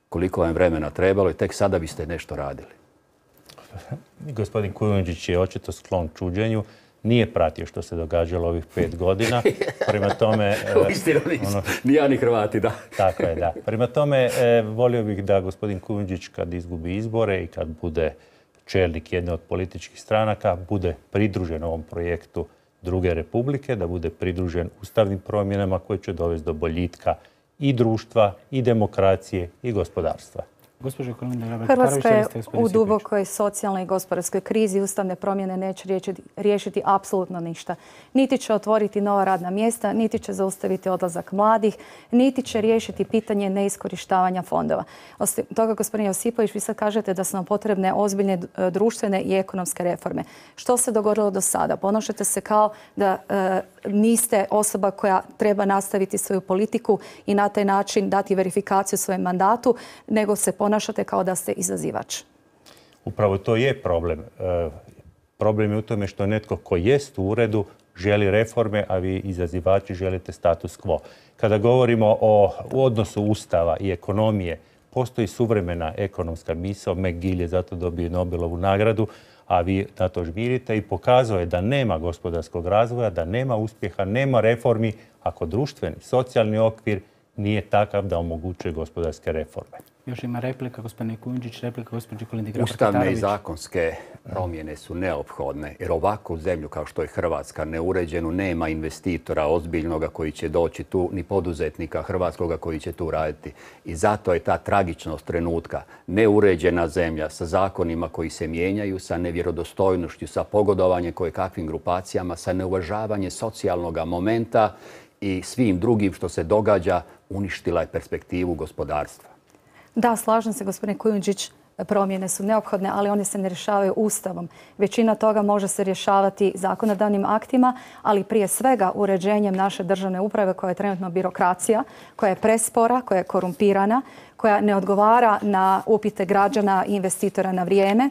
koliko vam vremena trebalo i tek sada biste nešto radili. Gospodin Kujundžić je očito sklon čuđenju. Nije pratio što se događalo ovih 5 godina. Prema tome... Uistinu nisam. Ni ja ni Hrvati, da. Tako je, da. Prema tome, volio bih da gospodin Kujundžić kad izgubi izbore i kad bude čelnik jedne od političkih stranaka, bude pridružen ovom projektu Druge republike, da bude pridružen ustavnim promjenama koje će dovesti do boljitka i društva, i demokracije, i gospodarstva. Hrvatska je u dubokoj socijalnoj i gospodarskoj krizi. Ustavne promjene neće riješiti apsolutno ništa. Niti će otvoriti nova radna mjesta, niti će zaustaviti odlazak mladih, niti će riješiti pitanje neiskorištavanja fondova. Osim toga, gospodin Josipović, vi sad kažete da su nam potrebne ozbiljne društvene i ekonomske reforme. Što se dogodilo do sada? Ponašate se kao da niste osoba koja treba nastaviti svoju politiku i na taj način dati verifikaciju svojem mandatu, nego se ponašate kao da ste izazivač. Upravo to je problem. Problem je u tome što netko ko jest u uredu želi reforme, a vi izazivači želite status quo. Kada govorimo o odnosu Ustava i ekonomije, postoji suvremena ekonomska misao. McGill je zato dobio Nobelovu nagradu, a vi na to žmirite i pokazao je da nema gospodarskog razvoja, da nema uspjeha, nema reformi ako društveni, socijalni okvir nije takav da omogućuje gospodarske reforme. Još ima replika, gospodine Kujundžić, replika gospođe Kolinde Grabar-Kitarović. Ustavne i zakonske promjene su neophodne, jer ovakvu zemlju kao što je Hrvatska, neuređenu, nema investitora ozbiljnoga koji će doći tu, ni poduzetnika hrvatskoga koji će tu raditi. I zato je ta tragičnost trenutka, neuređena zemlja sa zakonima koji se mijenjaju, sa nevjerodostojnošću, sa pogodovanjem kojekakvim grupacijama, sa neuvažavanjem socijalnog momenta i svim drugim što se događa, uništila je perspektivu gospodarstva. Da, slažem se, gospodine Kujundžić, promjene su neophodne, ali one se ne rješavaju Ustavom. Većina toga može se rješavati zakonodavnim aktima, ali prije svega uređenjem naše državne uprave koja je trenutno birokracija, koja je prespora, koja je korumpirana, koja ne odgovara na upite građana i investitora na vrijeme,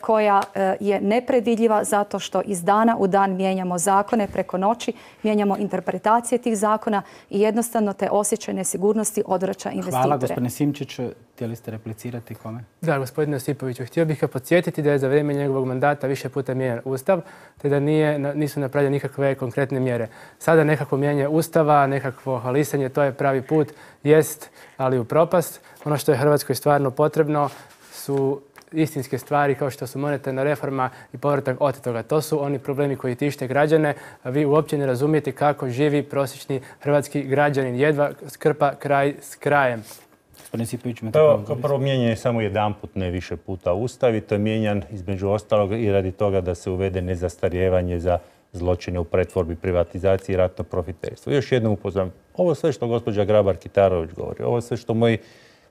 koja je nepredvidljiva zato što iz dana u dan mijenjamo zakone preko noći, mijenjamo interpretacije tih zakona i jednostavno te osjećaj nesigurnosti odvraća investitore. Hvala, gospodine Simčić. Htjeli ste replicirati kome? Da, gospodine Josipoviću, htio bih ga podsjetiti da je za vrijeme njegovog mandata više puta mijenjan Ustav, te da nisu napravljene nikakve konkretne mjere. Sada nekako mijenje Ustava, nekakvo hvalisanje, to je pravi put, jest, ali u propast. Ono što je Hrvatskoj stvarno potrebno su istinske stvari kao što su monetarna reforma i povratak otetoga. To su oni problemi koji tište građane, a vi uopće ne razumijete kako živi prosječni hrvatski građanin. Jedva skrpa kraj s krajem. Kao prvo mijenjan je samo jedanput, ne više puta Ustav i to je mijenjan između ostalog i radi toga da se uvede nezastarijevanje za zločine u pretvorbi, privatizaciji i ratno profiterstvo. Još jednom upozoravam, ovo sve što gospođa Grabar-Kitarović govori, ovo sve što moji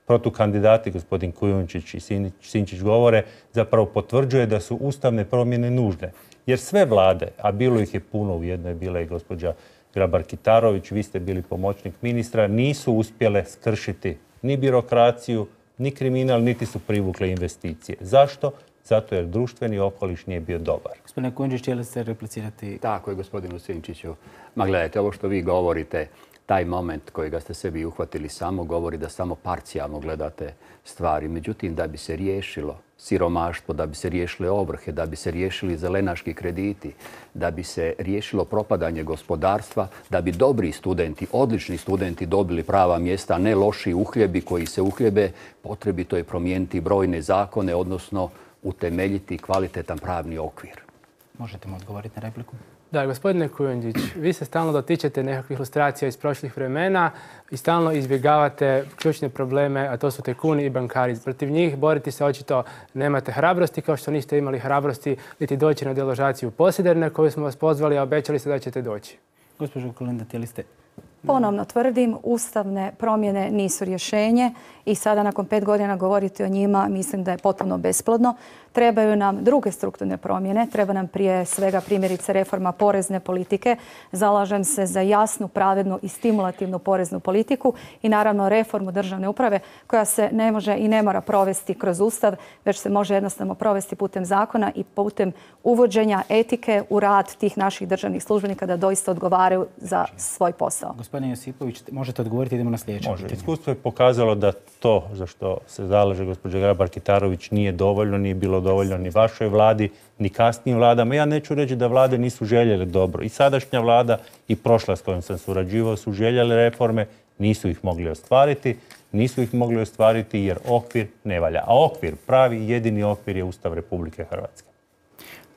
protukandidati, gospodin Kujundžić i Sinčić govore, zapravo potvrđuje da su ustavne promjene nužne. Jer sve vlade, a bilo ih je puno, u jednoj je bila i gospođa Grabar-Kitarović, vi ste bili pomoćnik ministra, nisu uspjele skršiti ni birokraciju, ni kriminal, niti su privukle investicije. Zašto? Zato jer društveni okoliš nije bio dobar. Gospodine Kujundžić, htjeli ste replicirati? Tako je, gospodinu Sinčiću. Ma gledajte, ovo što vi govorite, taj moment kojega ste sebi uhvatili samo govori da samo parcijalno gledate stvari. Međutim, da bi se riješilo siromaštvo, da bi se riješile ovrhe, da bi se riješili zelenaški krediti, da bi se riješilo propadanje gospodarstva, da bi dobri studenti, odlični studenti dobili prava mjesta, a ne loši uhljebi koji se uhljebe, potrebito je promijeniti brojne zakone, odnosno utemeljiti kvalitetan pravni okvir. Možete mu odgovoriti na repliku? Da, gospodine Kujundžić, vi se stalno dotičete nekakvih ilustracija iz prošlih vremena i stalno izbjegavate ključne probleme, a to su tajkuni i bankari. Protiv njih boriti se očito nemate hrabrosti, kao što niste imali hrabrosti niti doći na deložaciju Posiderne koju smo vas pozvali, a obećali ste da ćete doći. Gospođo Kolinda, htjeli ste Ponovno tvrdim, ustavne promjene nisu rješenje i sada nakon 5 godina govoriti o njima mislim da je potpuno besplodno. Trebaju nam druge strukturne promjene, treba nam prije svega primjerice reforma porezne politike. Zalažem se za jasnu, pravednu i stimulativnu poreznu politiku i naravno reformu državne uprave koja se ne može i ne mora provesti kroz Ustav, već se može jednostavno provesti putem zakona i putem uvođenja etike u rad tih naših državnih službenika da doista odgovaraju za svoj posao. Gospodine Josipović, možete odgovoriti, idemo na sljedeće pitanje. Iskustvo je pokazalo da to za što se zalaže gospođa Grabar-Kitarović nije dovoljno, nije bilo dovoljno ni vašoj vladi, ni kasnijim vladama. Ja neću reći da vlade nisu željele dobro. I sadašnja vlada i prošla s kojom sam surađivao su željele reforme, nisu ih mogli ostvariti. Nisu ih mogli ostvariti jer okvir ne valja. A okvir, pravi jedini okvir je Ustav Republike Hrvatske.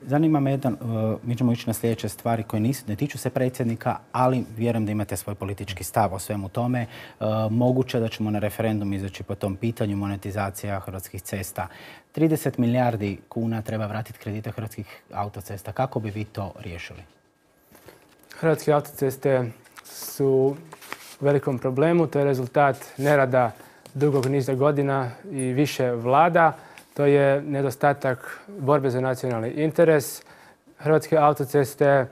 Zanima me mi ćemo ići na sljedeće stvari koje ne tiču se predsjednika, ali vjerujem da imate svoj politički stav o svemu tome. Moguće da ćemo na referendum izaći po tom pitanju monetizacija hrvatskih cesta. 30 milijardi kuna treba vratiti kredita hrvatskih autocesta. Kako bi vi to riješili? Hrvatske autoceste su u velikom problemu. To je rezultat nerada dugog niza godina i više vlada. To je nedostatak borbe za nacionalni interes. Hrvatske autoceste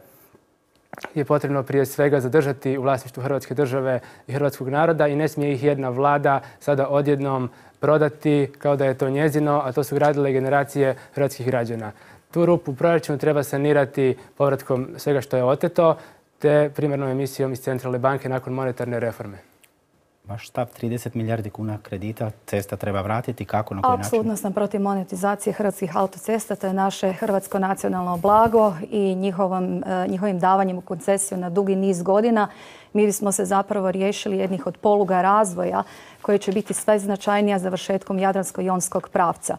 je potrebno prije svega zadržati u vlasništvu Hrvatske države i hrvatskog naroda i ne smije ih jedna vlada sada odjednom prodati kao da je to njezino, a to su gradile generacije hrvatskih građana. Tu rupu u proračunu treba sanirati povratkom svega što je oteto, te primarnom emisijom iz Centralne banke nakon monetarne reforme. Vaš stav, 30 milijardi kuna kredita cesta treba vratiti, kako, na koji način? Apsolutno sam protiv monetizacije hrvatskih autocesta, to je naše hrvatsko nacionalno blago i njihovim davanjem u koncesiju na dugi niz godina mi bismo se zapravo riješili jednih od poluga razvoja koje će biti sve značajnija završetkom Jadransko-jonskog pravca.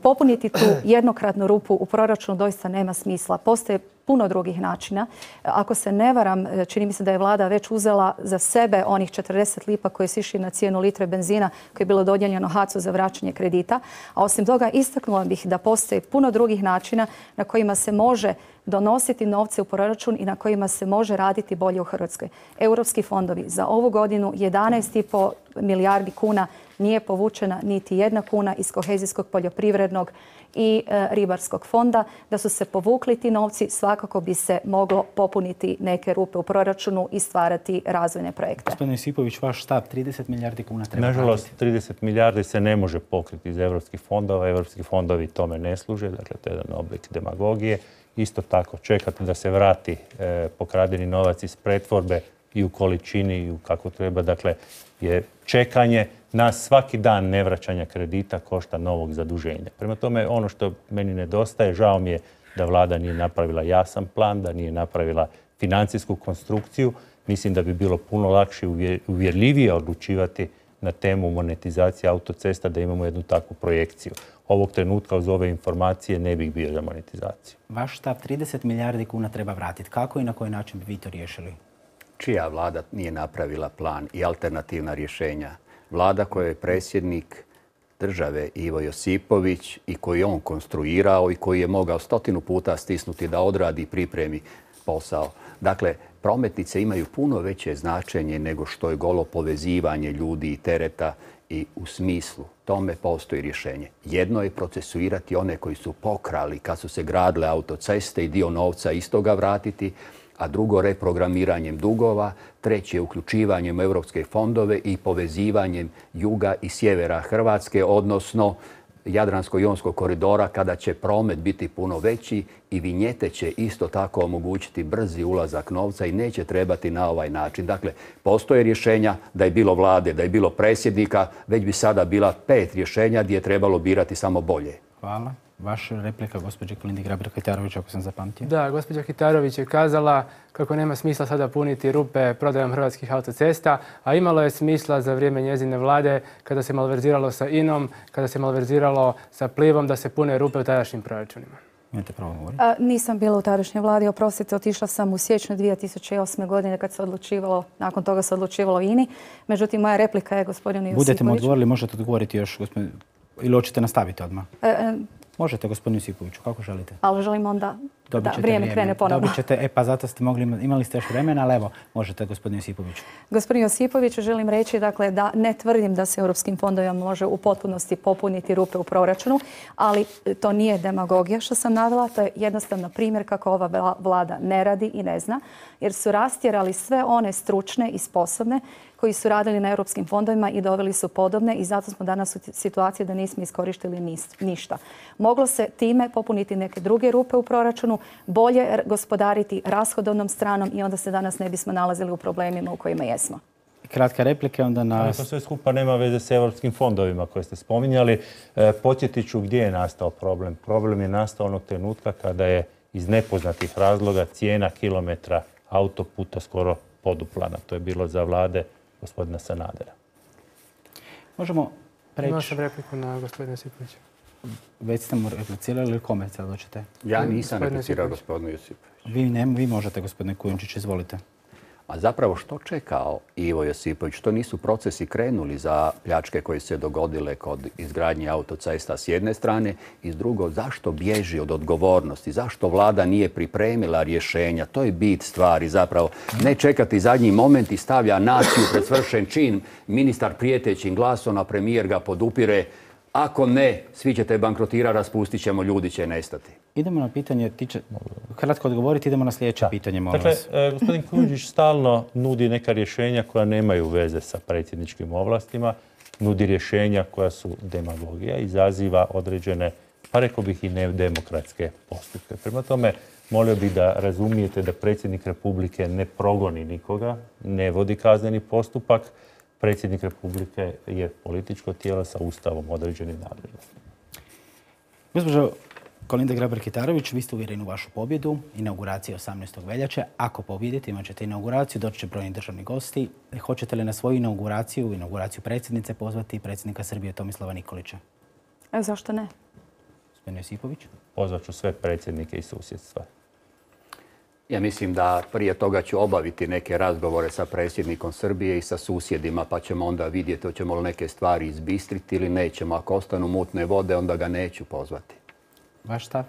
Popuniti tu jednokratnu rupu u proračunu doista nema smisla. Postoje puno drugih načina. Ako se ne varam, čini mi se da je vlada već uzela za sebe onih 40 lipa koji su išli na cijenu litre benzina koji je bilo dodijeljeno HAC-u za vraćanje kredita. A osim toga istaknula bih da postoji puno drugih načina na kojima se može donositi novce u proračun i na kojima se može raditi bolje u Hrvatskoj. Europski fondovi za ovu godinu 11,5 milijardi kuna nije povučena niti jedna kuna iz kohezijskog, poljoprivrednog i ribarskog fonda. Da su se povukli ti novci, svakako bi se moglo popuniti neke rupe u proračunu i stvarati razvojne projekte. Gospodine Josipović, vaš stav, 30 milijardi kuna treba nažalost, 30 milijardi se ne može pokriti iz europskih fondova. Europski fondovi tome ne služe, dakle to je jedan oblik demagogije. Isto tako čekati da se vrati pokradeni novac iz pretvorbe i u količini i u kako treba. Dakle, je čekanje na svaki dan nevraćanja kredita košta novog zaduženja. Prema tome, ono što meni nedostaje, žao mi je da vlada nije napravila jasan plan, da nije napravila financijsku konstrukciju. Mislim da bi bilo puno lakše i uvjerljivije odlučivati na temu monetizacije autocesta, da imamo jednu takvu projekciju. Ovog trenutka uz ove informacije ne bih bio za monetizaciju. Vaš stav, 30 milijardi kuna treba vratiti. Kako i na koji način bi vi to riješili? Čija vlada nije napravila plan i alternativna rješenja? Vlada koja je predsjednik države Ivo Josipović i koji je on konstruirao i koji je mogao 100 puta stisnuti da odradi i pripremi posao. Dakle, prometnice imaju puno veće značenje nego što je golo povezivanje ljudi i tereta i u smislu tome postoji rješenje. Jedno je procesuirati one koji su pokrali kad su se gradile autoceste i dio novca istoga vratiti, a drugo reprogramiranjem dugova, treće uključivanjem u europske fondove i povezivanjem juga i sjevera Hrvatske, odnosno Jadransko-jonskog koridora kada će promet biti puno veći i vinjete će isto tako omogućiti brzi ulazak novca i neće trebati na ovaj način. Dakle, postoje rješenja, da je bilo vlade, da je bilo predsjednika, već bi sada bila 5 rješenja gdje je trebalo birati samo bolje. Hvala. Vaša replika, gospođe Kolindi Grabar-Kitarović, ako sam zapamtio. Da, gospođa Kitarović je kazala kako nema smisla sada puniti rupe prodajom hrvatskih autocesta, a imalo je smisla za vrijeme njezine vlade kada se malverziralo sa INA-om, kada se malverziralo sa Plivom, da se pune rupe u tadašnjim proračunima. Imate pravo govoriti. Nisam bila u tadašnjoj vladi, oprostite, otišla sam u siječnju 2008. godine kad se odlučivalo, nakon toga se odlučivalo o INA-i. Međutim, moja replika je gospodinu Josipoviću. Budete mu odgovorili, možete odgovoriti još, ili hoćete nastaviti odmah? Možete, gospodinu Josipoviću, kako želite. Ali želim onda vrijeme krene ponovno. Dobit ćete, pa zato ste imali ste još vremena, ali evo, možete gospodin Josipović. Gospodin Josipović, želim reći dakle, da ne tvrdim da se europskim fondovima može u potpunosti popuniti rupe u proračunu, ali to nije demagogija što sam navela, to je jednostavno primjer kako ova vlada ne radi i ne zna, jer su rastjerali sve one stručne i sposobne koji su radili na europskim fondovima i doveli su podobne i zato smo danas u situaciji da nismo iskoristili ništa. Moglo se time popuniti neke druge rupe u proračunu, bolje gospodariti rashodovnom stranom i onda se danas ne bismo nalazili u problemima u kojima jesmo. Kratka replika, onda na... To sve skupa nema veze s europskim fondovima koje ste spominjali. Podsjetit ću gdje je nastao problem. Problem je nastao onog trenutka kada je iz nepoznatih razloga cijena kilometra autoputa skoro poduplana. To je bilo za vlade gospodina Sanadera. Možemo preći... Imao sam repliku na gospodina Josipovića. Već ste mu replicirali ili kome sad hoćete? Ja nisam replicirao gospodinu Josipoviću. Vi možete, gospodine Kujundžić, izvolite. A zapravo što čekao Ivo Josipović? To nisu procesi krenuli za pljačke koje se dogodile kod izgradnje autocesta s jedne strane i s drugo, zašto bježi od odgovornosti? Zašto vlada nije pripremila rješenja? To je bit stvari zapravo. Ne čekati zadnji moment i stavlja naciju pred svršen čin. Ministar prijetećim glasom, a premijer ga podupire. Ako ne, svi ćete bankrotirati, raspustit ćemo, ljudi će nestati. Idemo na pitanje, kratko odgovoriti, idemo na sljedeće pitanje, molim vas. Dakle, gospodin Kujundžić stalno nudi neka rješenja koja nemaju veze sa predsjedničkim ovlastima, nudi rješenja koja su demagogija, izaziva određene, pa rekao bih i nedemokratske postupke. Prema tome, molio bih da razumijete da predsjednik Republike ne progoni nikoga, ne vodi kazneni postupak. Predsjednik Republike je političko tijelo sa Ustavom određenim nadležnostima. Gospođo Kolinda Grabar-Kitarović, vi ste uvjereni u vašu pobjedu, inauguracija 18. veljače. Ako pobjedite, imat ćete inauguraciju, doći će brojni državni gosti. Hoćete li na svoju inauguraciju predsjednice, pozvati predsjednika Srbije Tomislava Nikolića? Zašto ne? Gospodin Josipović? Pozvat ću sve predsjednike iz susjedstva. Ja mislim da prije toga ću obaviti neke razgovore sa predsjednikom Srbije i sa susjedima, pa ćemo onda vidjeti hoćemo li neke stvari izbistriti ili nećemo. Ako ostanu mutne vode, onda ga neću pozvati. Vaš stav?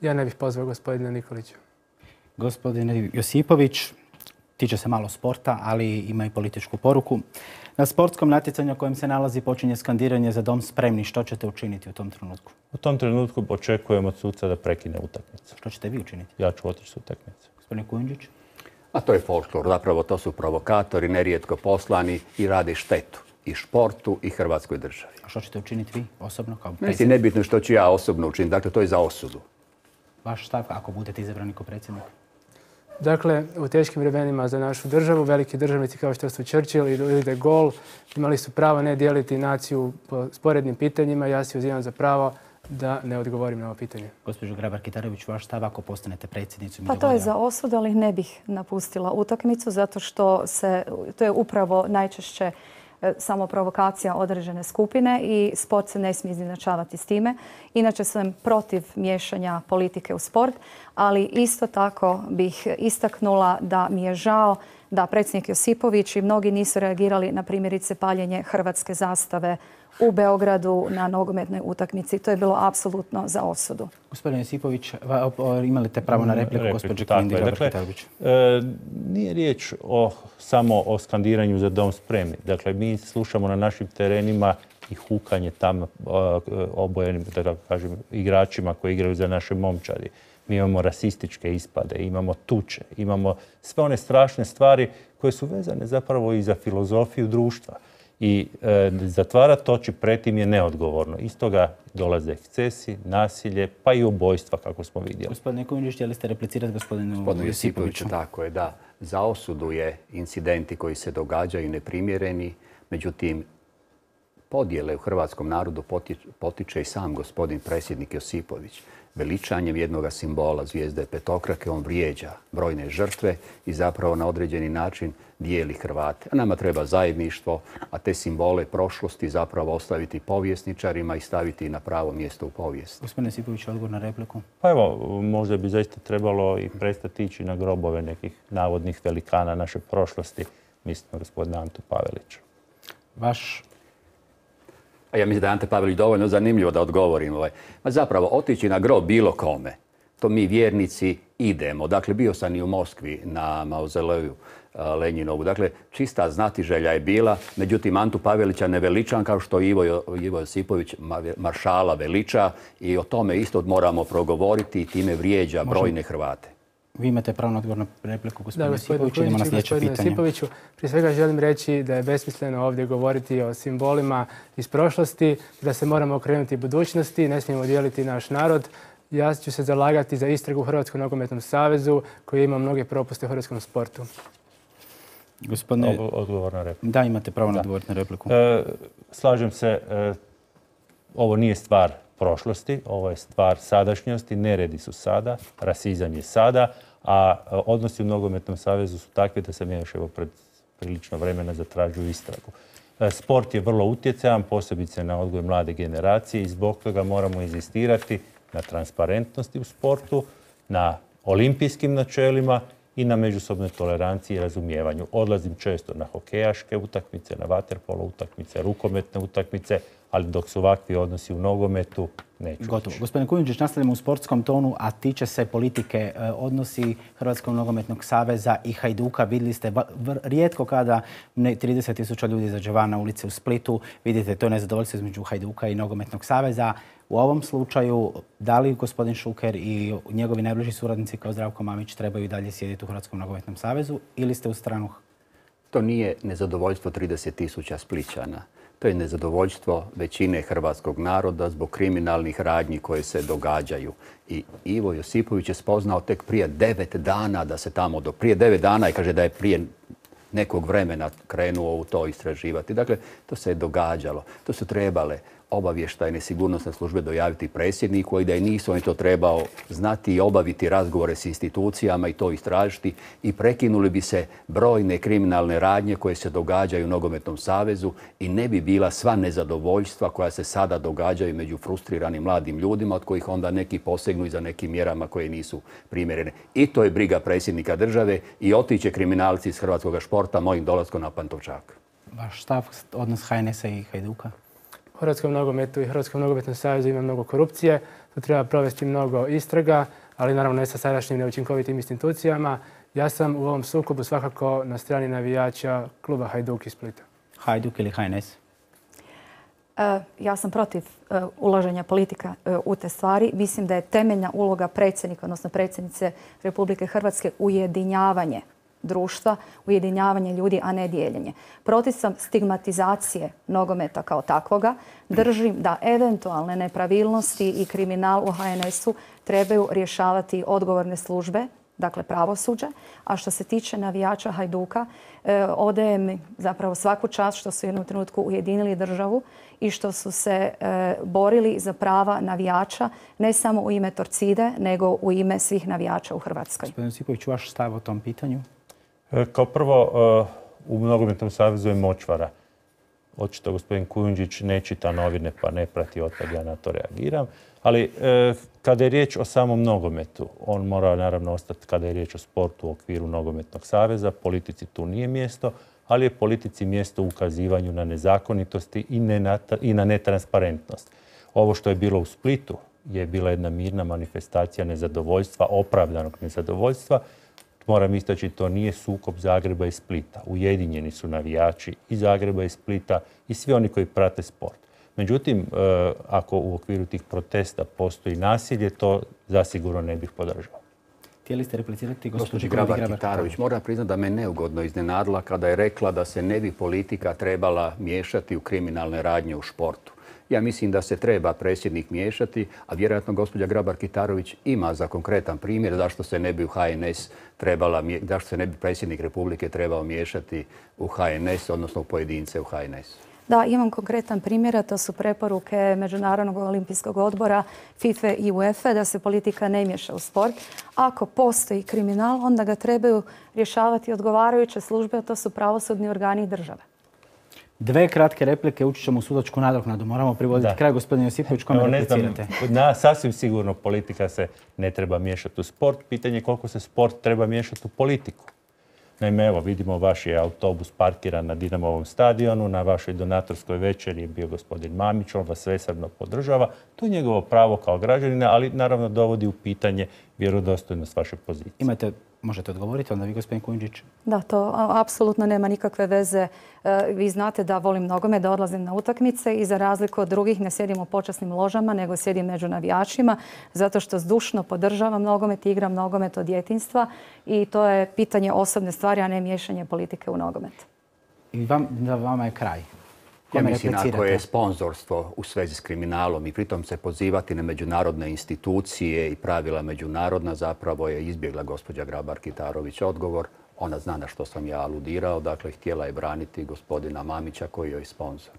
Ja ne bih pozvao gospodina Nikolića. Gospodine Josipović, tiče se malo sporta, ali ima i političku poruku. Na sportskom natjecanju na kojem se nalazi počinje skandiranje Za dom spremni. Što ćete učiniti u tom trenutku? U tom trenutku očekujem od suca da prekine utakmicu. Što ćete vi učiniti? Ja ću otići s utakmice. Gospodin Kujundžić? A to je folklor. Zapravo to su provokatori, nerijetko poslani i rade štetu i športu i Hrvatskoj državi. A što ćete učiniti vi osobno? Mislim, nebitno što ću ja osobno učiniti. Dakle, to je za osudu. Vaš stav ako budete izabrani kao predsjednik? Dakle, u teškim vremenima za našu državu, veliki državnici kao što su Churchill ili de Gaulle imali su pravo ne dijeliti naciju po sporednim pitanjima. Ja si uzimam za pravo da ne odgovorim na ovo pitanje. Gospođo Grabar-Kitarović, vaš stav ako postanete predsjednicom? Pa to je za osudu, ali ne bih napustila utakmicu zato što to je upravo najčešće samo provokacija određene skupine i sport se ne smije izjednačavati s time. Inače sam protiv miješanja politike u sport, ali isto tako bih istaknula da mi je žao da predsjednik Josipović i mnogi nisu reagirali na primjerice paljenje hrvatske zastave u Beogradu na nogometnoj utakmici. To je bilo apsolutno za osudu. Gospodin Josipović, imate pravo na repliku, gospođe Kolindi Grabar-Kitarović. Nije riječ samo o skandiranju Za dom spremni. Dakle, mi slušamo na našim terenima i hukanje tamo obojenim, da kažem, igračima koji igraju za naše momčadi. Mi imamo rasističke ispade, imamo tuče, imamo sve one strašne stvari koje su vezane zapravo i za filozofiju društva. I zatvarati oči pred tim je neodgovorno. Iz toga dolaze ekscesi, nasilje, pa i ubojstva, kako smo vidjeli. Gospodine Kujundžić, htjeli ste replicirati gospodinu Josipoviću? Tako je, da. Za osudu je incidenti koji se događaju neprimjereni. Međutim, podjele u hrvatskom narodu potiče i sam gospodin predsjednik Josipović. Veličanjem jednoga simbola zvijezde petokrake on vrijeđa brojne žrtve i zapravo na određeni način dijeli Hrvate. A nama treba zajedništvo, a te simbole prošlosti zapravo ostaviti povjesničarima i staviti na pravo mjesto u povijesti. Gospodine Josipović, odgovor na repliku. Pa evo, možda bi zaista trebalo i prestati ići na grobove nekih navodnih velikana naše prošlosti. Mislim na gospodina Antu Pavelića. Vaš... A ja mislim da je Ante Pavelić dovoljno zanimljivo da odgovorim. Zapravo, otići na grob bilo kome, što mi vjernici idemo. Dakle, bio sam i u Moskvi na mauzoleju Lenjinovu. Dakle, čista znatiželja je bila. Međutim, Antu Pavelića ne veličam kao što Ivo Josipović maršala veliča i o tome isto moramo progovoriti i time vrijeđa brojne Hrvate. Vi imate pravo na odgovor na repliku, gospodine Josipoviću. Idemo na sljedeće pitanje. Josipoviću, prije svega želim reći da je besmisleno ovdje govoriti o simbolima iz prošlosti, da se moramo okrenuti budućnosti, ne smijemo dijeliti naš narod. Ja ću se zalagati za istragu u Hrvatskom nogometnom savezu koji ima mnoge propuste u hrvatskom sportu. Gospodine, odgovor na repliku. Da, imate pravo na odgovor na repliku. Slažem se, ovo nije stvar prošlosti, ovo je stvar sadašnjosti, neredi su sada, rasizam je sada, a odnosi u Nogometnom savezu su takvi da sam ja još pred prilično vremena zatražio istragu. Sport je vrlo utjecajan, posebice na odgoj mlade generacije i zbog toga moramo inzistirati na transparentnosti u sportu, na olimpijskim načelima i na međusobnoj toleranciji i razumijevanju. Odlazim često na hokejaške utakmice, na vaterpolo utakmice, rukometne utakmice, ali dok su ovakvi odnosi u nogometu, neću. Gotovo. Gospodine Kujundžić, nastavljamo u sportskom tonu, a tiče se politike odnosi Hrvatskog nogometnog saveza i Hajduka. Vidjeli ste rijetko kada 30.000 ljudi izađe van na ulice u Splitu. Vidite, to je nezadovoljstvo između Hajduka i Nogometnog saveza. U ovom slučaju, da li gospodin Šuker i njegovi najbliži suradnici kao Zdravko Mamić trebaju i dalje sjediti u Hrvatskom nogometnom savezu ili ste u stranu? To nije nezadovoljstvo 30.000 Splićana. To je nezadovoljstvo većine hrvatskog naroda zbog kriminalnih radnji koje se događaju. I Ivo Josipović je spoznao tek prije 9 dana da se tamo prije 9 dana i kaže da je prije nekog vremena krenuo u to istraživati. Dakle, to se je događalo. To su trebale obavještajne sigurnosne službe dojaviti predsjedniku i da je nisu oni to trebao znati i obaviti razgovore s institucijama i to istražiti i prekinuli bi se brojne kriminalne radnje koje se događaju u Nogometnom savezu i ne bi bila sva nezadovoljstva koja se sada događaju među frustriranim mladim ljudima od kojih onda neki posegnu i za nekim mjerama koje nisu primjerene. I to je briga predsjednika države i otiće kriminalci iz hrvatskog športa mojim dolaskom na Pantovčak. Vaš stav, odnos HNS-a i Hajduka? U Hrvatskom nogometu i Hrvatskom nogometnom savezu ima mnogo korupcije. Tu treba provesti mnogo istraga, ali naravno ne sa sadašnjim neučinkovitim institucijama. Ja sam u ovom sukobu svakako na strani navijača kluba Hajduk iz Splita. Hajduk ili HNS? Ja sam protiv ulaženja politika u te stvari. Mislim da je temeljna uloga predsjednika, odnosno predsjednice Republike Hrvatske ujedinjavanje društva, ujedinjavanje ljudi, a ne dijeljenje. Protiv sam stigmatizacije nogometa kao takvoga. Držim da eventualne nepravilnosti i kriminal u HNS-u trebaju rješavati odgovorne službe, dakle pravosuđe. A što se tiče navijača Hajduka, odaje mi zapravo svaku čast što su u jednom trenutku ujedinili državu i što su se borili za prava navijača, ne samo u ime Torcide, nego u ime svih navijača u Hrvatskoj. Gospodin Josipović, vaš stav o tom pitanju? Kao prvo, u Nogometnom savezu je močvara. Očito gospodin Kujundžić ne čita novine pa ne prati od kad ja na to reagiram. Ali kada je riječ o samom nogometu, on mora naravno ostati kada je riječ o sportu u okviru Nogometnog saveza. Politici tu nije mjesto, ali je politici mjesto u ukazivanju na nezakonitosti i na netransparentnost. Ovo što je bilo u Splitu je bila jedna mirna manifestacija nezadovoljstva, opravdanog nezadovoljstva. Moram istaći, to nije sukob Zagreba i Splita. Ujedinjeni su navijači i Zagreba i Splita i svi oni koji prate sport. Međutim, ako u okviru tih protesta postoji nasilje, to zasigurno ne bih podržao. Htjeli ste replicirati gospođi Grabar-Kitarović? Moram priznati da me neugodno iznenadila kada je rekla da se ne bi politika trebala miješati u kriminalne radnje u športu. Ja mislim da se treba predsjednik miješati, a vjerojatno gospođa Grabar-Kitarović ima za konkretan primjer zašto se ne bi u HNS zašto se ne bi predsjednik Republike trebao miješati u HNS, odnosno u pojedince u HNS. Da, imam konkretan primjer, a to su preporuke Međunarodnog olimpijskog odbora, FIFA i UEFA da se politika ne miješa u sport. Ako postoji kriminal, onda ga trebaju rješavati odgovarajuće službe, a to su pravosudni organi države. Dve kratke replike, ući ćemo u sudačku nadoknadu. Moramo privoditi kraj. Gospodin Josipović, kome replicirate? Sasvim sigurno politika se ne treba miješati u sport. Pitanje je koliko se sport treba miješati u politiku. Naime, evo, vidimo vaš je autobus parkiran na Dinamovom stadionu, na vašoj donatorskoj večeri je bio gospodin Mamić, on vas svesrdno podržava. To je njegovo pravo kao građanina, ali naravno dovodi u pitanje vjerodostojnost vaše pozicije. Možete odgovoriti, onda vi, gospodin Kujundžić. Da, to apsolutno nema nikakve veze. Vi znate da volim nogomet, da odlazim na utakmice i za razliku od drugih ne sjedim u počasnim ložama, nego sjedim među navijačima, zato što zdušno podržavam nogomet i igram nogomet od djetinjstva i to je pitanje osobne stvari, a ne miješanje politike u nogomet. I vama je kraj. Ja mislim, ako je sponzorstvo u svezi s kriminalom i pritom se pozivati na međunarodne institucije i pravila međunarodna, zapravo je izbjegla gospođa Grabar-Kitarović odgovor. Ona zna na što sam ja aludirao, dakle htjela je braniti gospodina Mamića koji joj je sponzor.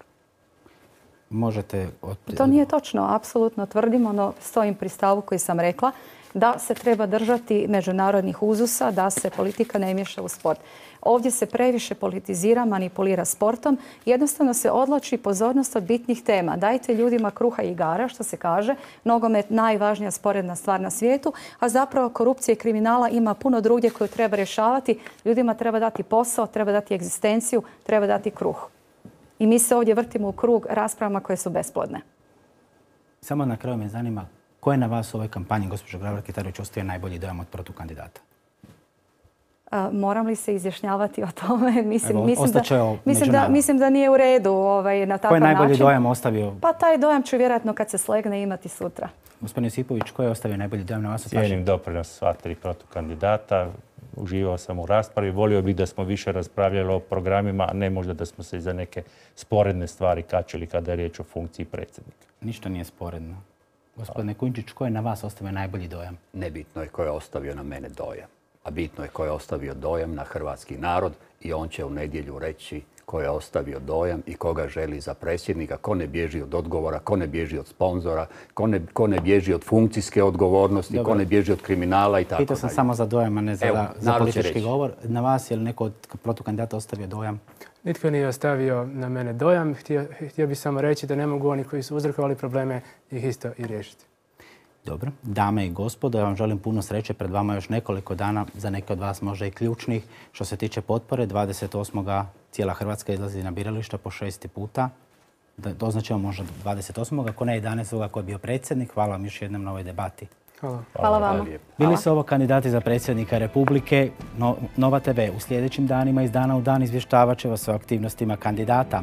To nije točno, apsolutno tvrdim, stojim pri stavu koji sam rekla, da se treba držati međunarodnih uzusa, da se politika ne miješa u sport. Ovdje se previše politizira, manipulira sportom. Jednostavno se odvlači pozornost od bitnih tema. Dajte ljudima kruha i igara, što se kaže. Nogomet najvažnija sporedna stvar na svijetu, a zapravo korupcije i kriminala ima puno drugdje koju treba rješavati. Ljudima treba dati posao, treba dati egzistenciju, treba dati kruh. I mi se ovdje vrtimo u krug raspravama koje su besplodne. Samo na kraju me zanima, ko je na vas u ovoj kampanji, gospođo Grabar-Kitarović, ostavio najbolji dojam od protukandidata? Moram li se izjašnjavati o tome? Mislim da nije u redu na takav način. Ko je najbolji dojam ostavio? Pa taj dojam ću vjerojatno kad se slegne imati sutra. Gospodin Josipović, ko je ostavio najbolji dojam na vas? Cijenim doprinos sva tri protukandidata. Uživao sam u raspravi. Volio bih da smo više raspravljali o programima, a ne možda da smo se i za neke sporedne stvari kačili kada je riječ o funkciji predsjednika. Ništa nije sporedno. Gospodine Kujundžić, ko je na vas ostavio najbolji dojam? Nebitno je ko je ostavio na mene dojam. A bitno je ko je ostavio dojam na hrvatski narod i on će u nedjelju reći ko je ostavio dojam i koga želi za predsjednika, ko ne bježi od odgovora, ko ne bježi od sponzora, ko ne bježi od funkcijske odgovornosti, ko ne bježi od kriminala i tako dalje. Pitao sam samo za dojam, a ne za politički govor. Na vas je li neko od protukandidata ostavio dojam? Nitko nije ostavio na mene dojam. Htio bih samo reći da ne mogu oni koji su uzrokovali probleme ih isto i riješiti. Dobro. Dame i gospodo, ja vam želim puno sreće. Pred vama još nekoliko dana, za neke od vas možda i ključnih. Što se tiče potpore, 28. cijela Hrvatska izlazi na birališta po 6. puta. Doznačimo možda 28. Ako ne 11. ako je bio predsjednik. Hvala vam još jednom na ovoj debati. Hvala vama. Bili su ovo kandidati za predsjednika Republike. Nova TV u sljedećim danima iz dana u dan izvještavat će vas o aktivnostima kandidata.